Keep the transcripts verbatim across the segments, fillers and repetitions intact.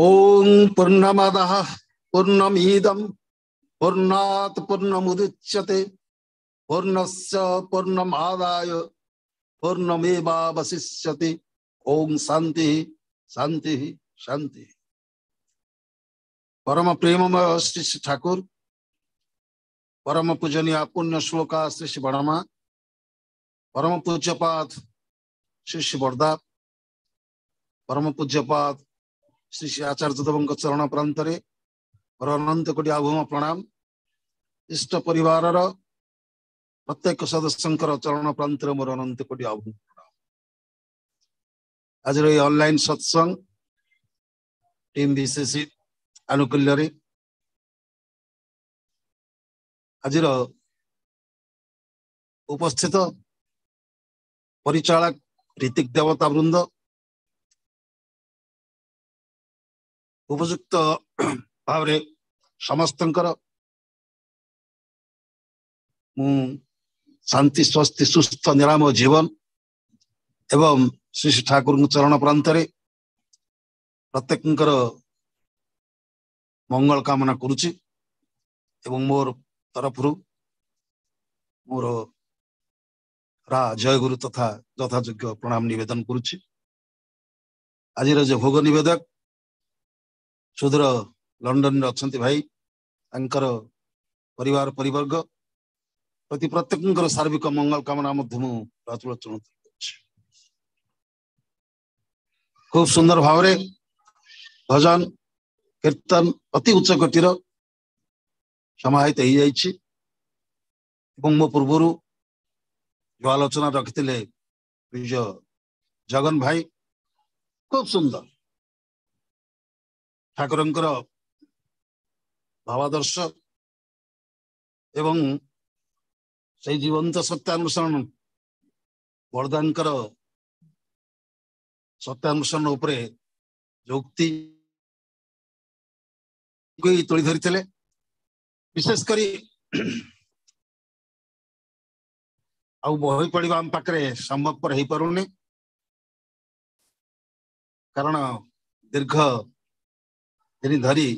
ଓଁ ପୂର୍ଣ୍ଣମଦଃ ପୂର୍ଣ୍ଣମିଦಂ ପୂର୍ଣ୍ଣାତ୍ ପୂର୍ଣ୍ଣମୁଦଚ୍ୟତେ ପୂର୍ଣ୍ଣସ୍ୟ ପୂର୍ଣ୍ଣମାଦାୟ ପୂର୍ଣ୍ଣମେବାବଶିଷ୍ୟତେ। ଓଁ ଶାନ୍ତି ଶାନ୍ତି ଶାନ୍ତି। ପରମ ପ୍ରେମମୟ ଶ୍ରୀ ଶ୍ରୀ ଠାକୁର, ପରମ ପୂଜନୀୟ ପୁଣ୍ୟ ଶ୍ଲୋକା ଶ୍ରୀ ଶ୍ରୀ ବଡ଼ମା, ପରମ ପୂଜ୍ୟପାଦ ଶ୍ରୀ ଶ୍ରୀ ବରଦା, ପରମ ପୂଜ୍ୟପାଦ ଶ୍ରୀ ଶ୍ରୀ ଆଚାର୍ଯ୍ୟ ଦେବଙ୍କ ଚରଣ ପ୍ରାନ୍ତରେ ମୋର ଅନନ୍ତ କୋଟି ଆଭୂମ ପ୍ରଣାମ। ଇଷ୍ଟ ପରିବାରର ପ୍ରତ୍ୟେକ ସଦସ୍ୟଙ୍କର ଚରଣ ପ୍ରାନ୍ତରେ ମୋର ଅନନ୍ତ କୋଟି ଆଭୂମ ପ୍ରଣାମ। ଆଜିର ଏଇ ଅନଲାଇନ ସତ୍ସଙ୍ଗ ଟିମ୍ ବିଶେଷୀ ଆନୁକୂଲ୍ୟରେ ଆଜିର ଉପସ୍ଥିତ ପରିଚାଳକ ঋତିକ ଦେବତା ବୃନ୍ଦ, ଉପଯୁକ୍ତ ଭାବରେ ସମସ୍ତଙ୍କର ମୁଁ ଶାନ୍ତି ସ୍ୱସ୍ତି ସୁସ୍ଥ ନିରାମୟ ଜୀବନ ଏବଂ ଶ୍ରୀ ଶ୍ରୀ ଠାକୁରଙ୍କ ଚରଣ ପ୍ରାନ୍ତରେ ପ୍ରତ୍ୟେକଙ୍କର ମଙ୍ଗଳ କାମନା କରୁଛି ଏବଂ ମୋର ତରଫରୁ ମୋର ରା ଜୟଗୁରୁ ତଥା ଯଥାଯୋଗ୍ୟ ପ୍ରଣାମ ନିବେଦନ କରୁଛି। ଆଜିର ଯେ ଭୋଗ ନିବେଦକ ସୁଦୂର ଲଣ୍ଡନରେ ଅଛନ୍ତି ଭାଇ, ତାଙ୍କର ପରିବାର ପରିବର୍ଗ ପ୍ରତି ପ୍ରତ୍ୟେକଙ୍କର ସାର୍ବିକ ମଙ୍ଗଳ କାମନା ମଧ୍ୟ ମୁଁ ରାଜଲୋଚନ କରୁଛି। ଖୁବ ସୁନ୍ଦର ଭାବରେ ଭଜନ କୀର୍ତ୍ତନ ଅତି ଉଚ୍ଚ କୋଟିର ସମାହିତ ହେଇଯାଇଛି ଏବଂ ମୋ ପୂର୍ବରୁ ଯୋଉ ଆଲୋଚନା ରଖିଥିଲେ ବିଜୟ ଜଗନ ଭାଇ, ଖୁବ ସୁନ୍ଦର ଠାକୁରଙ୍କର ଭାବାଦର୍ଶ ଏବଂ ସେଇ ଜୀବନ୍ତ ସତ୍ୟାନୁସରଣ ବରଦାଙ୍କର ସତ୍ୟାନୁସରଣ ଉପରେ ଯୁକ୍ତି ତୋଳି ଧରିଥିଲେ। ବିଶେଷ କରି ଆଉ ବହି ପଢିବା ଆମ ପାଖରେ ସମ୍ଭବପର ହେଇପାରୁନି, କାରଣ ଦୀର୍ଘ ଦିନ ଧରି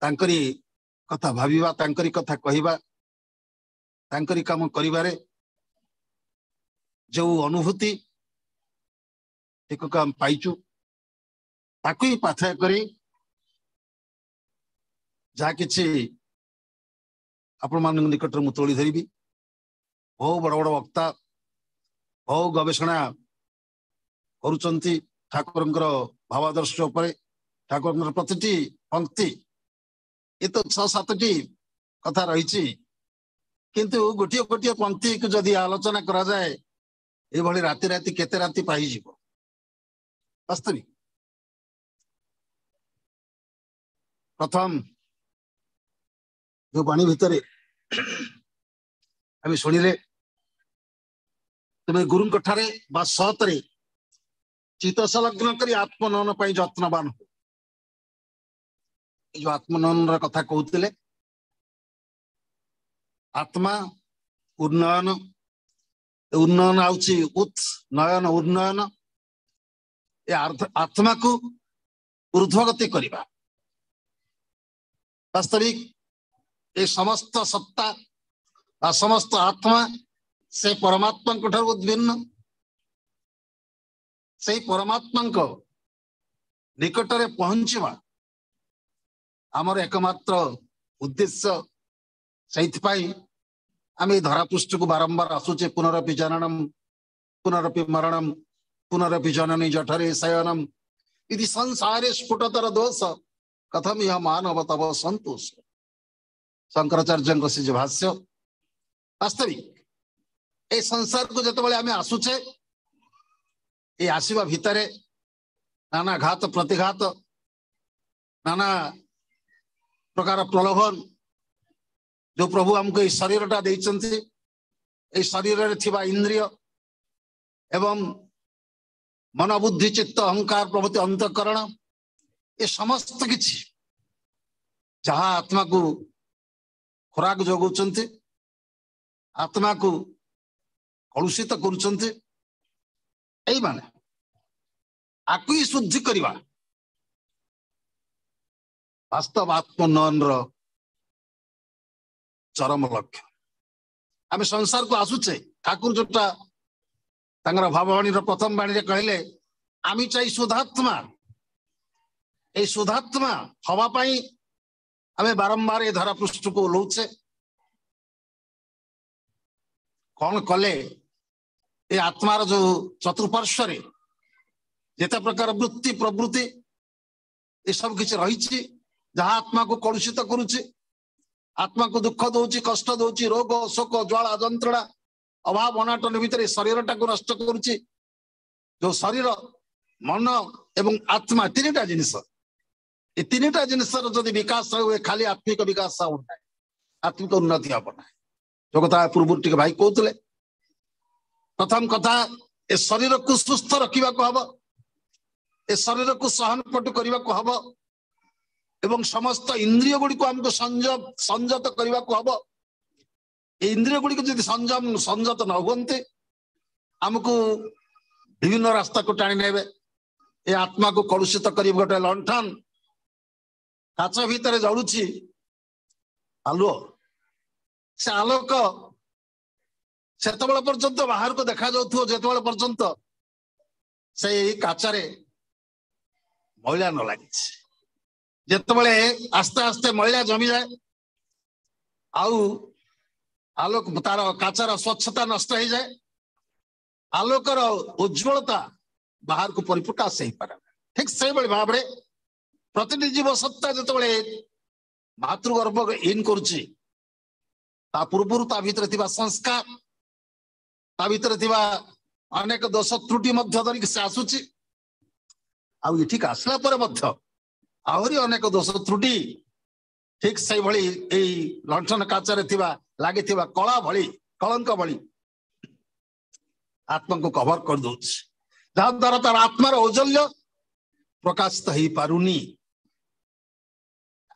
ତାଙ୍କରି କଥା ଭାବିବା, ତାଙ୍କରି କଥା କହିବା, ତାଙ୍କରି କାମ କରିବାରେ ଯୋଉ ଅନୁଭୂତି ଟିକକ ଆମେ ପାଇଛୁ, ତାକୁ ହିଁ ପାଥେୟ କରି ଯାହା କିଛି ଆପଣମାନଙ୍କ ନିକଟରେ ମୁଁ ତୋଳି ଧରିବି। ବହୁ ବଡ ବଡ ବକ୍ତା ବହୁ ଗବେଷଣା କରୁଛନ୍ତି ଠାକୁରଙ୍କର ଭାବାଦର୍ଶ ଉପରେ, ଠାକୁରଙ୍କର ପ୍ରତିଟି ପଙ୍କ୍ତି। ଏ ତ ଛଅ ସାତଟି କଥା ରହିଛି, କିନ୍ତୁ ଗୋଟିଏ ଗୋଟିଏ ପଙ୍କ୍ତିକୁ ଯଦି ଆଲୋଚନା କରାଯାଏ ଏଇଭଳି ରାତି ରାତି କେତେ ରାତି ପାଇଯିବ। ବାସ୍ତବିକ ପ୍ରଥମ ଯୋଉ ବାଣୀ ଭିତରେ ଆମେ ଶୁଣିଲେ, ତୁମେ ଗୁରୁଙ୍କ ଠାରେ ବା ସତରେ ଚିତ୍ତ ସଂଲଗ୍ନ କରି ଆତ୍ମନୟନ ପାଇଁ ଯତ୍ନବାନ ହୁଅ। ଏଇ ଯୋଉ ଆତ୍ମନୟନର କଥା କହୁଥିଲେ, ଆତ୍ମା ଉନ୍ନୟନ, ଉନ୍ନୟନ ଆଉଛି ଉତ୍ ନୟନ ଉନ୍ନୟନ, ଏ ଆତ୍ମାକୁ ଊର୍ଦ୍ଧ୍ୱଗତି କରିବା। ବାସ୍ତବିକ ଏ ସମସ୍ତ ସତ୍ତା ବା ସମସ୍ତ ଆତ୍ମା ସେ ପରମାତ୍ମାଙ୍କ ଠାରୁ ଉଦ୍ଭିନ୍ନ। ସେଇ ପରମାତ୍ମାଙ୍କ ନିକଟରେ ପହଞ୍ଚିବା ଆମର ଏକମାତ୍ର ଉଦ୍ଦେଶ୍ୟ। ସେଇଥିପାଇଁ ଆମେ ଏଇ ଧରାପୃଷ୍ଠକୁ ବାରମ୍ବାର ଆସୁଛେ। ପୁନରପି ଜନନମ ପୁନରପି ମରଣମ ପୁନରପି ଜନନୀ ଜଠରେ ଶୟନମ ଇତି ସଂସାରେ ସ୍ଫୁଟତର ଦୋଷ କଥମ ଇହ ମାନବ ତବ ସନ୍ତୋଷ। ଶଙ୍କରାଚାର୍ଯ୍ୟଙ୍କ ସେ ଯେ ଭାଷ୍ୟ, ବାସ୍ତବିକ ଏଇ ସଂସାରକୁ ଯେତେବେଳେ ଆମେ ଆସୁଛେ, ଏଇ ଆସିବା ଭିତରେ ନାନା ଘାତ ପ୍ରତିଘାତ, ନାନା ପ୍ରକାର ପ୍ରଲୋଭନ, ଯୋଉ ପ୍ରଭୁ ଆମକୁ ଏଇ ଶରୀରଟା ଦେଇଛନ୍ତି, ଏଇ ଶରୀରରେ ଥିବା ଇନ୍ଦ୍ରିୟ ଏବଂ ମନ ବୁଦ୍ଧି ଚିତ୍ତ ଅହଙ୍କାର ପ୍ରଭୃତି ଅନ୍ତଃକରଣ, ଏ ସମସ୍ତ କିଛି ଯାହା ଆତ୍ମାକୁ ଖୋରାକ ଯୋଗାଉଛନ୍ତି, ଆତ୍ମାକୁ କଳୁଷିତ କରୁଛନ୍ତି, ଏଇମାନେ ଆକୁ ହିଁ ଶୁଦ୍ଧି କରିବା ବାସ୍ତବ ଆତ୍ମୋନ୍ନୟନର ଚରମ ଲକ୍ଷ୍ୟ। ଆମେ ସଂସାରକୁ ଆସୁଛେ, ଠାକୁର ଯୋଉଟା ତାଙ୍କର ଭାବବାଣୀର ପ୍ରଥମ ବାଣୀରେ କହିଲେ, ଆମେ ଚାଇ ଶୁଦ୍ଧାତ୍ମା। ଏଇ ଶୁଦ୍ଧାତ୍ମା ହବା ପାଇଁ ଆମେ ବାରମ୍ବାର ଏ ଧରା ପୃଷ୍ଠକୁ ଓହ୍ଲଉଛେ। କଣ କଲେ ଏ ଆତ୍ମାର ଯୋଉ ଚତୁଃପାର୍ଶ୍ୱରେ ଯେତେ ପ୍ରକାର ବୃତ୍ତି ପ୍ରବୃତ୍ତି ଏସବୁ କିଛି ରହିଛି, ଯାହା ଆତ୍ମାକୁ କଳୁଷିତ କରୁଛି, ଆତ୍ମାକୁ ଦୁଃଖ ଦଉଛି, କଷ୍ଟ ଦଉଛି, ରୋଗ ଶୋକ ଜ୍ୱାଳା ଯନ୍ତ୍ରଣା ଅଭାବ ଅନାଟନ ଭିତରେ ଶରୀରଟାକୁ ନଷ୍ଟ କରୁଛି। ଯୋଉ ଶରୀର, ମନ ଏବଂ ଆତ୍ମା ତିନିଟା ଜିନିଷ, ଏ ତିନିଟା ଜିନିଷର ଯଦି ବିକାଶ ହୁଏ, ଖାଲି ଆତ୍ମିକ ବିକାଶ ହବ ନାହିଁ, ଆତ୍ମିକ ଉନ୍ନତି ହବ ନାହିଁ। ଯୋଉ କଥା ପୂର୍ବରୁ ଟିକେ ଭାଇ କହୁଥିଲେ, ପ୍ରଥମ କଥା ଏ ଶରୀରକୁ ସୁସ୍ଥ ରଖିବାକୁ ହବ, ଏ ଶରୀରକୁ ସହନପଟୁ କରିବାକୁ ହବ ଏବଂ ସମସ୍ତ ଇନ୍ଦ୍ରିୟ ଗୁଡ଼ିକୁ ଆମକୁ ସଂଯମ ସଂଯତ କରିବାକୁ ହବ। ଏ ଇନ୍ଦ୍ରିୟ ଗୁଡ଼ିକୁ ଯଦି ସଂଯମ ସଂଯତ ନ ହୁଅନ୍ତି, ଆମକୁ ବିଭିନ୍ନ ରାସ୍ତାକୁ ଟାଣି ନେବେ, ଏ ଆତ୍ମାକୁ କଳୁଷିତ କରିବ। ଗୋଟେ ଲଣ୍ଠନ କାଚ ଭିତରେ ଜଳୁଛି ଆଲୁଅ, ସେ ଆଲୋକ ସେତେବେଳେ ପର୍ଯ୍ୟନ୍ତ ବାହାରକୁ ଦେଖାଯାଉଥିବ ଯେତେବେଳେ ପର୍ଯ୍ୟନ୍ତ ସେଇ କାଚରେ ମଇଳା ନ ଲାଗିଛି। ଯେତେବେଳେ ଆସ୍ତେ ଆସ୍ତେ ମଇଳା ଜମିଯାଏ ଆଉ ଆଲୋକ ତାର କାଚର ସ୍ୱଚ୍ଛତା ନଷ୍ଟ ହେଇଯାଏ, ଆଲୋକର ଉଜ୍ଜ୍ୱଳତା ବାହାରକୁ ପରିପ୍ରକାଶ ହେଇପାରେ। ଠିକ ସେଇଭଳି ଭାବରେ ପ୍ରତିଟି ଜୀବ ସତ୍ତା ଯେତେବେଳେ ମାତୃଗର୍ଭ ଇନ୍ କରୁଛି, ତା ପୂର୍ବରୁ ତା ଭିତରେ ଥିବା ସଂସ୍କାର, ତା ଭିତରେ ଥିବା ଅନେକ ଦୋଷ ତ୍ରୁଟି ମଧ୍ୟ ଧରିକି ସେ ଆସୁଛି। ଆଉ ଏଠିକି ଆସିଲା ପରେ ମଧ୍ୟ ଆହୁରି ଅନେକ ଦୋଷ ତ୍ରୁଟି ଠିକ ସେଇଭଳି ଏଇ ଲଣ୍ଠନ କାଚରେ ଥିବା ଲାଗିଥିବା କଳା ଭଳି, କଳଙ୍କ ଭଳି ଆତ୍ମାକୁ କଭର କରିଦଉଛି, ଯାହାଦ୍ୱାରା ତାର ଆତ୍ମାର ଔଜ୍ଜଲ୍ୟ ପ୍ରକାଶିତ ହେଇପାରୁନି।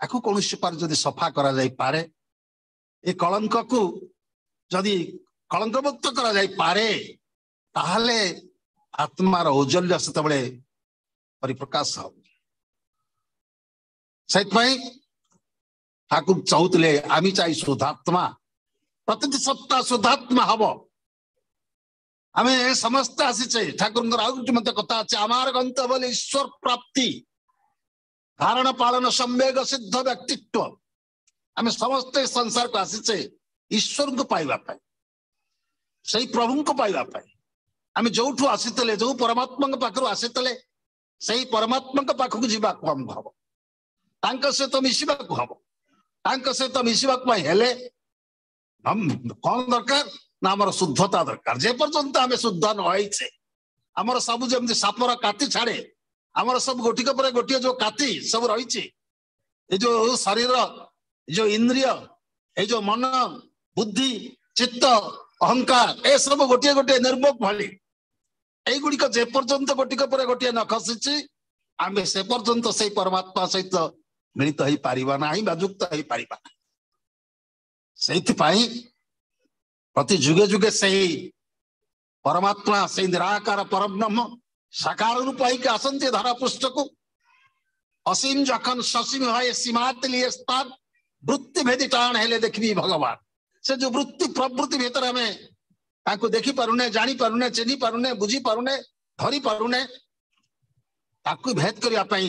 ଆକୁ କୌଣସି ପ୍ରକାର ଯଦି ସଫା କରାଯାଇପାରେ, ଏ କଳଙ୍କକୁ ଯଦି କଳଙ୍କମୁକ୍ତ କରାଯାଇପାରେ, ତାହେଲେ ଆତ୍ମାର ଔଜ୍ଜଲ୍ୟ ସେତେବେଳେ ପରିପ୍ରକାଶ ହବ। ସେଥିପାଇଁ ଠାକୁର ଚାହୁଁଥିଲେ ଆମେ ଚାଇ ଶୁଦ୍ଧାତ୍ମା, ପ୍ରତିଟି ସତ୍ତା ଶୁଦ୍ଧାତ୍ମା ହବ। ଆମେ ସମସ୍ତେ ଆସିଛେ। ଠାକୁରଙ୍କର ଆଉ ଗୋଟେ ମଧ୍ୟ କଥା ଅଛି, ଆମର ଗନ୍ତବ୍ୟ ବୋଲି ଈଶ୍ୱର ପ୍ରାପ୍ତି, ଧାରଣ ପାଳନ ସମ୍ବେଗ ସିଦ୍ଧ ବ୍ୟକ୍ତିତ୍ୱ। ଆମେ ସମସ୍ତେ ସଂସାରକୁ ଆସିଛେ ଈଶ୍ୱରଙ୍କୁ ପାଇବା ପାଇଁ, ସେଇ ପ୍ରଭୁଙ୍କୁ ପାଇବା ପାଇଁ। ଆମେ ଯୋଉଠୁ ଆସିଥିଲେ, ଯୋଉ ପରମାତ୍ମାଙ୍କ ପାଖରୁ ଆସିଥିଲେ, ସେଇ ପରମାତ୍ମାଙ୍କ ପାଖକୁ ଯିବାକୁ ଆମକୁ ହବ, ତାଙ୍କ ସହିତ ମିଶିବାକୁ ହବ। ତାଙ୍କ ସହିତ ମିଶିବାକୁ ପାଇଁ ହେଲେ କଣ ଦରକାର ନା ଆମର ଶୁଦ୍ଧତା ଦରକାର। ଯେ ପର୍ଯ୍ୟନ୍ତ ଆମେ ଶୁଦ୍ଧ ନ ହେଇଛେ, ଆମର ସବୁ ଯେମିତି ସାପର କାତି ଛାଡେ, ଆମର ସବୁ ଗୋଟିକ ପରେ ଗୋଟିଏ ଯୋଉ କାତି ସବୁ ରହିଛି, ଏ ଯୋଉ ଶରୀର, ଏ ଯୋଉ ଇନ୍ଦ୍ରିୟ, ଏଇ ଯୋଉ ମନ, ବୁଦ୍ଧି, ଚିତ୍ତ, ଅହଙ୍କାର, ଏସବୁ ଗୋଟିଏ ଗୋଟିଏ ନିର୍ଭୋଗ ଭଳି। ଏଇଗୁଡିକ ଯେ ପର୍ଯ୍ୟନ୍ତ ଗୋଟିକ ପରେ ଗୋଟିଏ ନ ଖସିଛି, ଆମେ ସେ ପର୍ଯ୍ୟନ୍ତ ସେଇ ପରମାତ୍ମା ସହିତ ମିଳିତ ହେଇପାରିବା ନାହିଁ ବା ଯୁକ୍ତ ହେଇପାରିବା ନାହିଁ। ସେଇଥିପାଇଁ ପ୍ରତି ଯୁଗେ ଯୁଗେ ସେଇ ପରମାତ୍ମା, ସେଇ ନିରାକାର ପରବ୍ରହ୍ମ ସାକାର ରୂପ ହେଇକି ଆସନ୍ତି ଧରା ପୃଷ୍ଠକୁ। ଅସୀମ ଯଖନ ସସୀମ ହଏ ସୀମାତ ଲିଏ ସ୍ଥାନ, ବୃତ୍ତି ଭେଦି ଟାଣ ହେଲେ ଦେଖିବି ଭଗବାନ। ସେ ଯୋଉ ବୃତ୍ତି ପ୍ରବୃତ୍ତି ଭିତରେ ଆମେ ତାଙ୍କୁ ଦେଖି ପାରୁନେ, ଜାଣି ପାରୁନେ, ଚିହ୍ନି ପାରୁନେ, ବୁଝି ପାରୁନେ, ଧରି ପାରୁନେ, ତାକୁ ଭେଦ କରିବା ପାଇଁ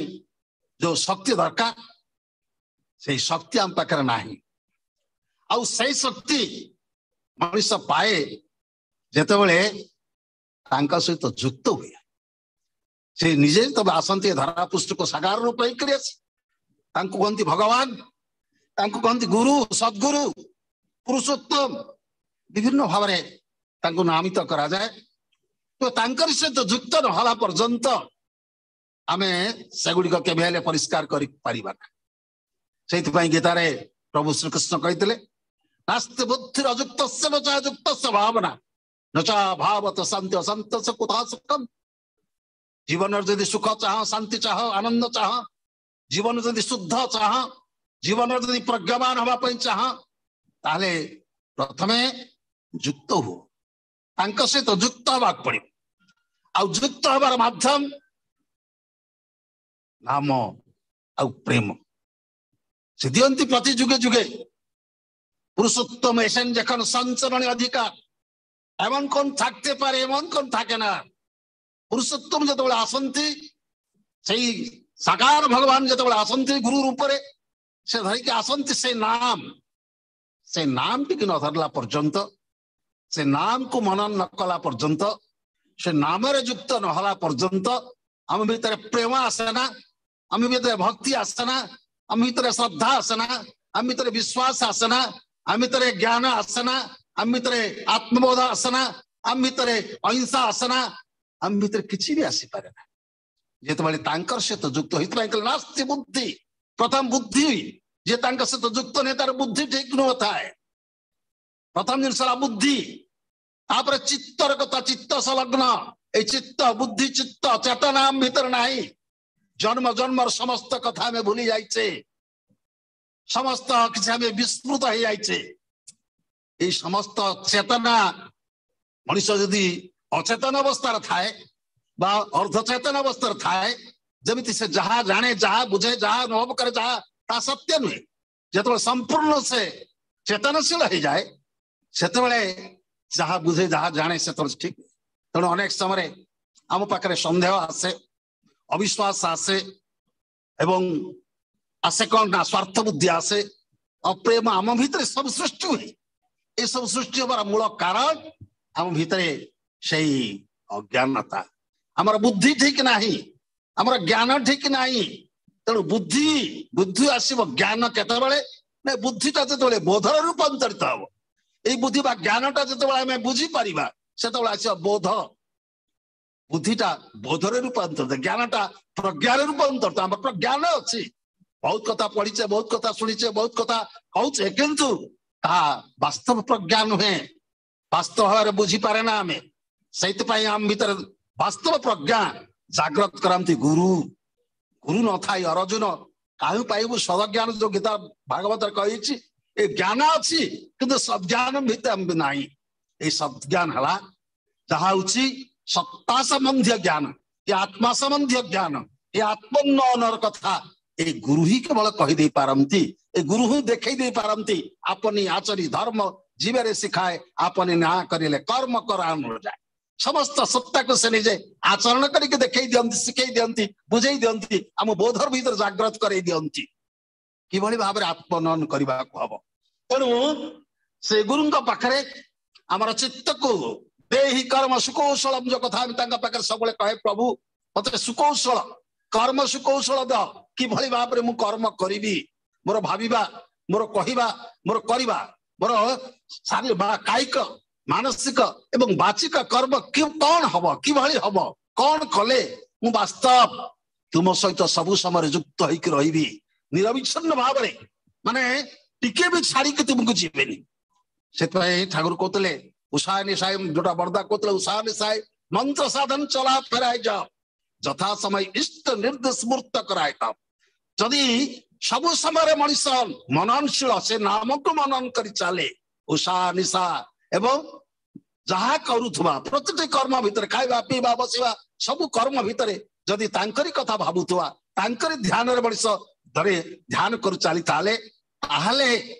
ଯୋଉ ଶକ୍ତି ଦରକାର, ସେଇ ଶକ୍ତି ଆମ ପାଖରେ ନାହିଁ। ଆଉ ସେଇ ଶକ୍ତି ମଣିଷ ପାଏ ଯେତେବେଳେ ତାଙ୍କ ସହିତ ଯୁକ୍ତ ହୁଏ। ସେ ନିଜେ ତବେ ଆସନ୍ତି ଧରା ପୃଷ୍ଠକୁ ସାକାର ରୂପ ହେଇକରି ଆସି, ତାଙ୍କୁ କହନ୍ତି ଭଗବାନ, ତାଙ୍କୁ କହନ୍ତି ଗୁରୁ, ସଦ୍ଗୁରୁ, ପୁରୁଷୋତ୍ତମ, ବିଭିନ୍ନ ଭାବରେ ତାଙ୍କୁ ନାମିତ କରାଯାଏ। ତ ତାଙ୍କରି ସହିତ ଯୁକ୍ତ ନହେଲା ପର୍ଯ୍ୟନ୍ତ ଆମେ ସେଗୁଡିକ କେବେ ହେଲେ ପରିଷ୍କାର କରିପାରିବା ନା। ସେଇଥିପାଇଁ ଗୀତାରେ ପ୍ରଭୁ ଶ୍ରୀକୃଷ୍ଣ କହିଥିଲେ, ନାସ୍ତି ବୁଦ୍ଧିର ଅଯୁକ୍ତସ୍ୟ ନ ଚ ଯୁକ୍ତସ୍ୟ ଭାବନା, ନ ଚ ଭାବତ ଶାନ୍ତି ଅଶାନ୍ତସ୍ୟ କୁତଃ ସୁଖମ୍। ଜୀବନରେ ଯଦି ସୁଖ ଚାହଁ, ଶାନ୍ତି ଚାହଁ, ଆନନ୍ଦ ଚାହଁ, ଜୀବନ ଯଦି ଶୁଦ୍ଧ ଚାହଁ, ଜୀବନରେ ଯଦି ପ୍ରଜ୍ଞାମାନ ହବା ପାଇଁ ଚାହଁ, ତାହେଲେ ପ୍ରଥମେ ଯୁକ୍ତ ହୁଅ, ତାଙ୍କ ସହିତ ଯୁକ୍ତ ହବାକୁ ପଡିବ। ଆଉ ଯୁକ୍ତ ହବାର ମାଧ୍ୟମ ନାମ ଆଉ ପ୍ରେମ ସେ ଦିଅନ୍ତି ପ୍ରତି ଯୁଗେ ଯୁଗେ। পুরুষোত্তম এসেন যখন সঞ্চরণে অধিকার, এমন কোন থাকতে পারে এমন কোন থাকে না। পুরুষোত্তম যেତେବେଳେ আসନ୍ତି, সেই ସାକାର ଭଗବାନ ଯେତେବେଳେ ଆସନ୍ତି ଗୁରୁ ରୂପରେ, ସେ ଧରିକି ଆସନ୍ତି ସେ ନାମ। ସେ ନାମଟିକୁ ନ ଧରିଲା ପର୍ଯ୍ୟନ୍ତ, ସେ ନାମକୁ ମନନ ନ କଲା ପର୍ଯ୍ୟନ୍ତ, ସେ ନାମରେ ଯୁକ୍ତ ନ ହେଲା ପର୍ଯ୍ୟନ୍ତ ଆମ ଭିତରେ ପ୍ରେମ ଆସେ ନା, ଆମ ଭିତରେ ଭକ୍ତି ଆସେ ନା, ଆମ ଭିତରେ ଶ୍ରଦ୍ଧା ଆସେ ନା, ଆମ ଭିତରେ ବିଶ୍ୱାସ ଆସେ ନା, ଆମ ଭିତରେ ଜ୍ଞାନ ଆସେ ନା, ଆମ ଭିତରେ ଆତ୍ମବୋଧ ଆସେ ନା, ଆମ ଭିତରେ ଅହିଂସା ଆସେ ନା, ଆମ ଭିତରେ କିଛି ବି ଆସିପାରେ ନା ଯେତେବେଳେ ତାଙ୍କର ସହିତ ଯୁକ୍ତ ହେଇଥିପାଇଁ କହିଲେ ନାସ୍ତି ବୁଦ୍ଧି। ପ୍ରଥମ ବୁଦ୍ଧି ଯେ ତାଙ୍କ ସହିତ ଯୁକ୍ତ ନୁହେଁ ତାର ବୁଦ୍ଧି ଠିକ ନଥାଏ। ପ୍ରଥମ ଜିନିଷ ହେଲା ବୁଦ୍ଧି, ତାପରେ ଚିତ୍ତର କଥା, ଚିତ୍ତ ସଂଲଗ୍ନ। ଏଇ ଚିତ୍ତ ବୁଦ୍ଧି ଚିତ୍ତ ଚେତନା ଆମ ଭିତରେ ନାହିଁ। ଜନ୍ମ ଜନ୍ମର ସମସ୍ତ କଥା ଆମେ ଭୁଲି ଯାଇଛେ, ସମସ୍ତ କିଛି ଆମେ ବିସ୍ମୃତ ହେଇଯାଇଛେ। ଏଇ ସମସ୍ତ ଚେତନା ମଣିଷ ଯଦି ଅଚେତନ ଅବସ୍ଥାରେ ଥାଏ ବା ଅର୍ଦ୍ଧଚେତନ ଅବସ୍ଥାରେ ଥାଏ, ଯେମିତି ସେ ଯାହା ଜାଣେ, ଯାହା ବୁଝେ, ଯାହା ଅନୁଭବ କରେ, ଯାହା ତା ସତ୍ୟ ନୁହେଁ। ଯେତେବେଳେ ସମ୍ପୂର୍ଣ୍ଣ ସେ ଚେତନଶୀଳ ହେଇଯାଏ, ସେତେବେଳେ ଯାହା ବୁଝେ ଯାହା ଜାଣେ ସେତେବେଳେ ଠିକ। ତେଣୁ ଅନେକ ସମୟରେ ଆମ ପାଖରେ ସନ୍ଦେହ ଆସେ, ଅବିଶ୍ୱାସ ଆସେ, ଏବଂ ଆସେ କଣ ନା ସ୍ୱାର୍ଥ ବୁଦ୍ଧି ଆସେ, ଅପ୍ରେମ ଆମ ଭିତରେ ସବୁ ସୃଷ୍ଟି ହୁଏ। ଏସବୁ ସୃଷ୍ଟି ହବାର ମୂଳ କାରଣ ଆମ ଭିତରେ ସେଇ ଅଜ୍ଞାନତା। ଆମର ବୁଦ୍ଧି ଠିକ ନାହିଁ, ଆମର ଜ୍ଞାନ ଠିକ ନାହିଁ। ତେଣୁ ବୁଦ୍ଧି ବୁଦ୍ଧି ଆସିବ ଜ୍ଞାନ କେତେବେଳେ ନା ବୁଦ୍ଧିଟା ଯେତେବେଳେ ବୋଧରେ ରୂପାନ୍ତରିତ ହବ। ଏଇ ବୁଦ୍ଧି ବା ଜ୍ଞାନଟା ଯେତେବେଳେ ଆମେ ବୁଝିପାରିବା, ସେତେବେଳେ ଆସିବ ବୋଧ। ବୁଦ୍ଧିଟା ବୋଧରେ ରୂପାନ୍ତରିତ, ଜ୍ଞାନଟା ପ୍ରଜ୍ଞାରେ ରୂପାନ୍ତରିତ। ଆମର ପ୍ରଜ୍ଞାନ ଅଛି, ବହୁତ କଥା ପଢିଛେ, ବହୁତ କଥା ଶୁଣିଛେ, ବହୁତ କଥା କହୁଛେ, କିନ୍ତୁ ତାହା ବାସ୍ତବ ପ୍ରଜ୍ଞା ନୁହେଁ, ବାସ୍ତବ ଭାବରେ ବୁଝିପାରେ ନା ଆମେ। ସେଇଥିପାଇଁ ଆମ ଭିତରେ ବାସ୍ତବ ପ୍ରଜ୍ଞା ଜାଗ୍ରତ କରନ୍ତି ଗୁରୁ। ଗୁରୁ ନଥାଇ ଅର୍ଜୁନ କାହିଁ ପାଇବୁ ସଦଜ୍ଞାନ, ଯୋଉ ଗୀତା ଭାଗବତରେ କହିଛି। ଏ ଜ୍ଞାନ ଅଛି କିନ୍ତୁ ସଦ୍ଜ୍ଞାନ ଭିତରେ ନାହିଁ। ଏଇ ସଦ୍ଜ୍ଞାନ ହେଲା ଯାହା ହଉଛି ସତ୍ତା ସମ୍ବନ୍ଧୀୟ ଜ୍ଞାନ, ଏ ଆତ୍ମା ସମ୍ବନ୍ଧୀୟ ଜ୍ଞାନ, ଏ ଆତ୍ମୋନ୍ନୟନର କଥା ଏଇ ଗୁରୁ ହିଁ କେବଳ କହିଦେଇ ପାରନ୍ତି, ଏ ଗୁରୁ ହିଁ ଦେଖେଇ ଦେଇ ପାରନ୍ତି। ଆପନି ଆଚରି ଧର୍ମ ଜୀବରେ ଶିଖାଏ, ଆପନି ନା କରିଲେ କର୍ମ କରାନ ଯାଏ। ସମସ୍ତ ସତ୍ତାକୁ ସେ ନିଜେ ଆଚରଣ କରିକି ଦେଖେଇ ଦିଅନ୍ତି, ଶିଖେଇ ଦିଅନ୍ତି, ବୁଝେଇ ଦିଅନ୍ତି, ଆମ ବୋଧର ଭିତରେ ଜାଗ୍ରତ କରେଇ ଦିଅନ୍ତି କିଭଳି ଭାବରେ ଆତ୍ମନୟନ କରିବାକୁ ହବ। ତେଣୁ ସେ ଗୁରୁଙ୍କ ପାଖରେ ଆମର ଚିତ୍ତକୁ ଦେହି କର୍ମ ସୁକୌଶଳ, ଯୋଉ କଥା ଆମେ ତାଙ୍କ ପାଖରେ ସବୁବେଳେ କହେ, ପ୍ରଭୁ ମତେ ସୁକୌଶଳ କର୍ମ ସୁକୌଶଳ ଦ, କିଭଳି ଭାବରେ ମୁଁ କର୍ମ କରିବି, ମୋର ଭାବିବା, ମୋର କହିବା, ମୋର କରିବା, ମୋର ଶାରୀରିକ ବା କାୟିକ, ମାନସିକ ଏବଂ ବାଚିକ କର୍ମ କି କଣ ହବ, କିଭଳି ହବ, କଣ କଲେ ମୁଁ ବାସ୍ତବ ତୁମ ସହିତ ସବୁ ସମୟରେ ଯୁକ୍ତ ହେଇକି ରହିବି ନିରବିଚ୍ଛିନ୍ନ ଭାବରେ, ମାନେ ଟିକେ ବି ଛାଡିକି ତୁମକୁ ଯିବେନି। ସେଥିପାଇଁ ଠାକୁର କହୁଥିଲେ ଉଷା ନିଶାୟ, ଯୋଉଟା ବରଦା କହୁଥିଲେ ଉଷା ନିଶାୟ ମନ୍ତ୍ର ସାଧନ ଚଲା ଫେରାଇ ଯାଅ, ଯଥା ସମୟ ଇଷ୍ଟ ନିର୍ଦ୍ଦେଶ ମୂର୍ତ୍ତ କରାଏ। ଯଦି ସବୁ ସମୟରେ ମଣିଷ ମନନଶୀଳ, ସେ ନାମକୁ ମନନ କରି ଚାଲେ ଉଷା ନିଶା, ଏବଂ ଯାହା କରୁଥିବା ପ୍ରତିଟି କର୍ମ ଭିତରେ, ଖାଇବା ପିଇବା ବସିବା ସବୁ କର୍ମ ଭିତରେ ଯଦି ତାଙ୍କରି କଥା ଭାବୁଥିବା, ତାଙ୍କରି ଧ୍ୟାନରେ ମଣିଷ ଧରେ ଧ୍ୟାନ କରୁ ଚାଲି, ତାହେଲେ ତାହେଲେ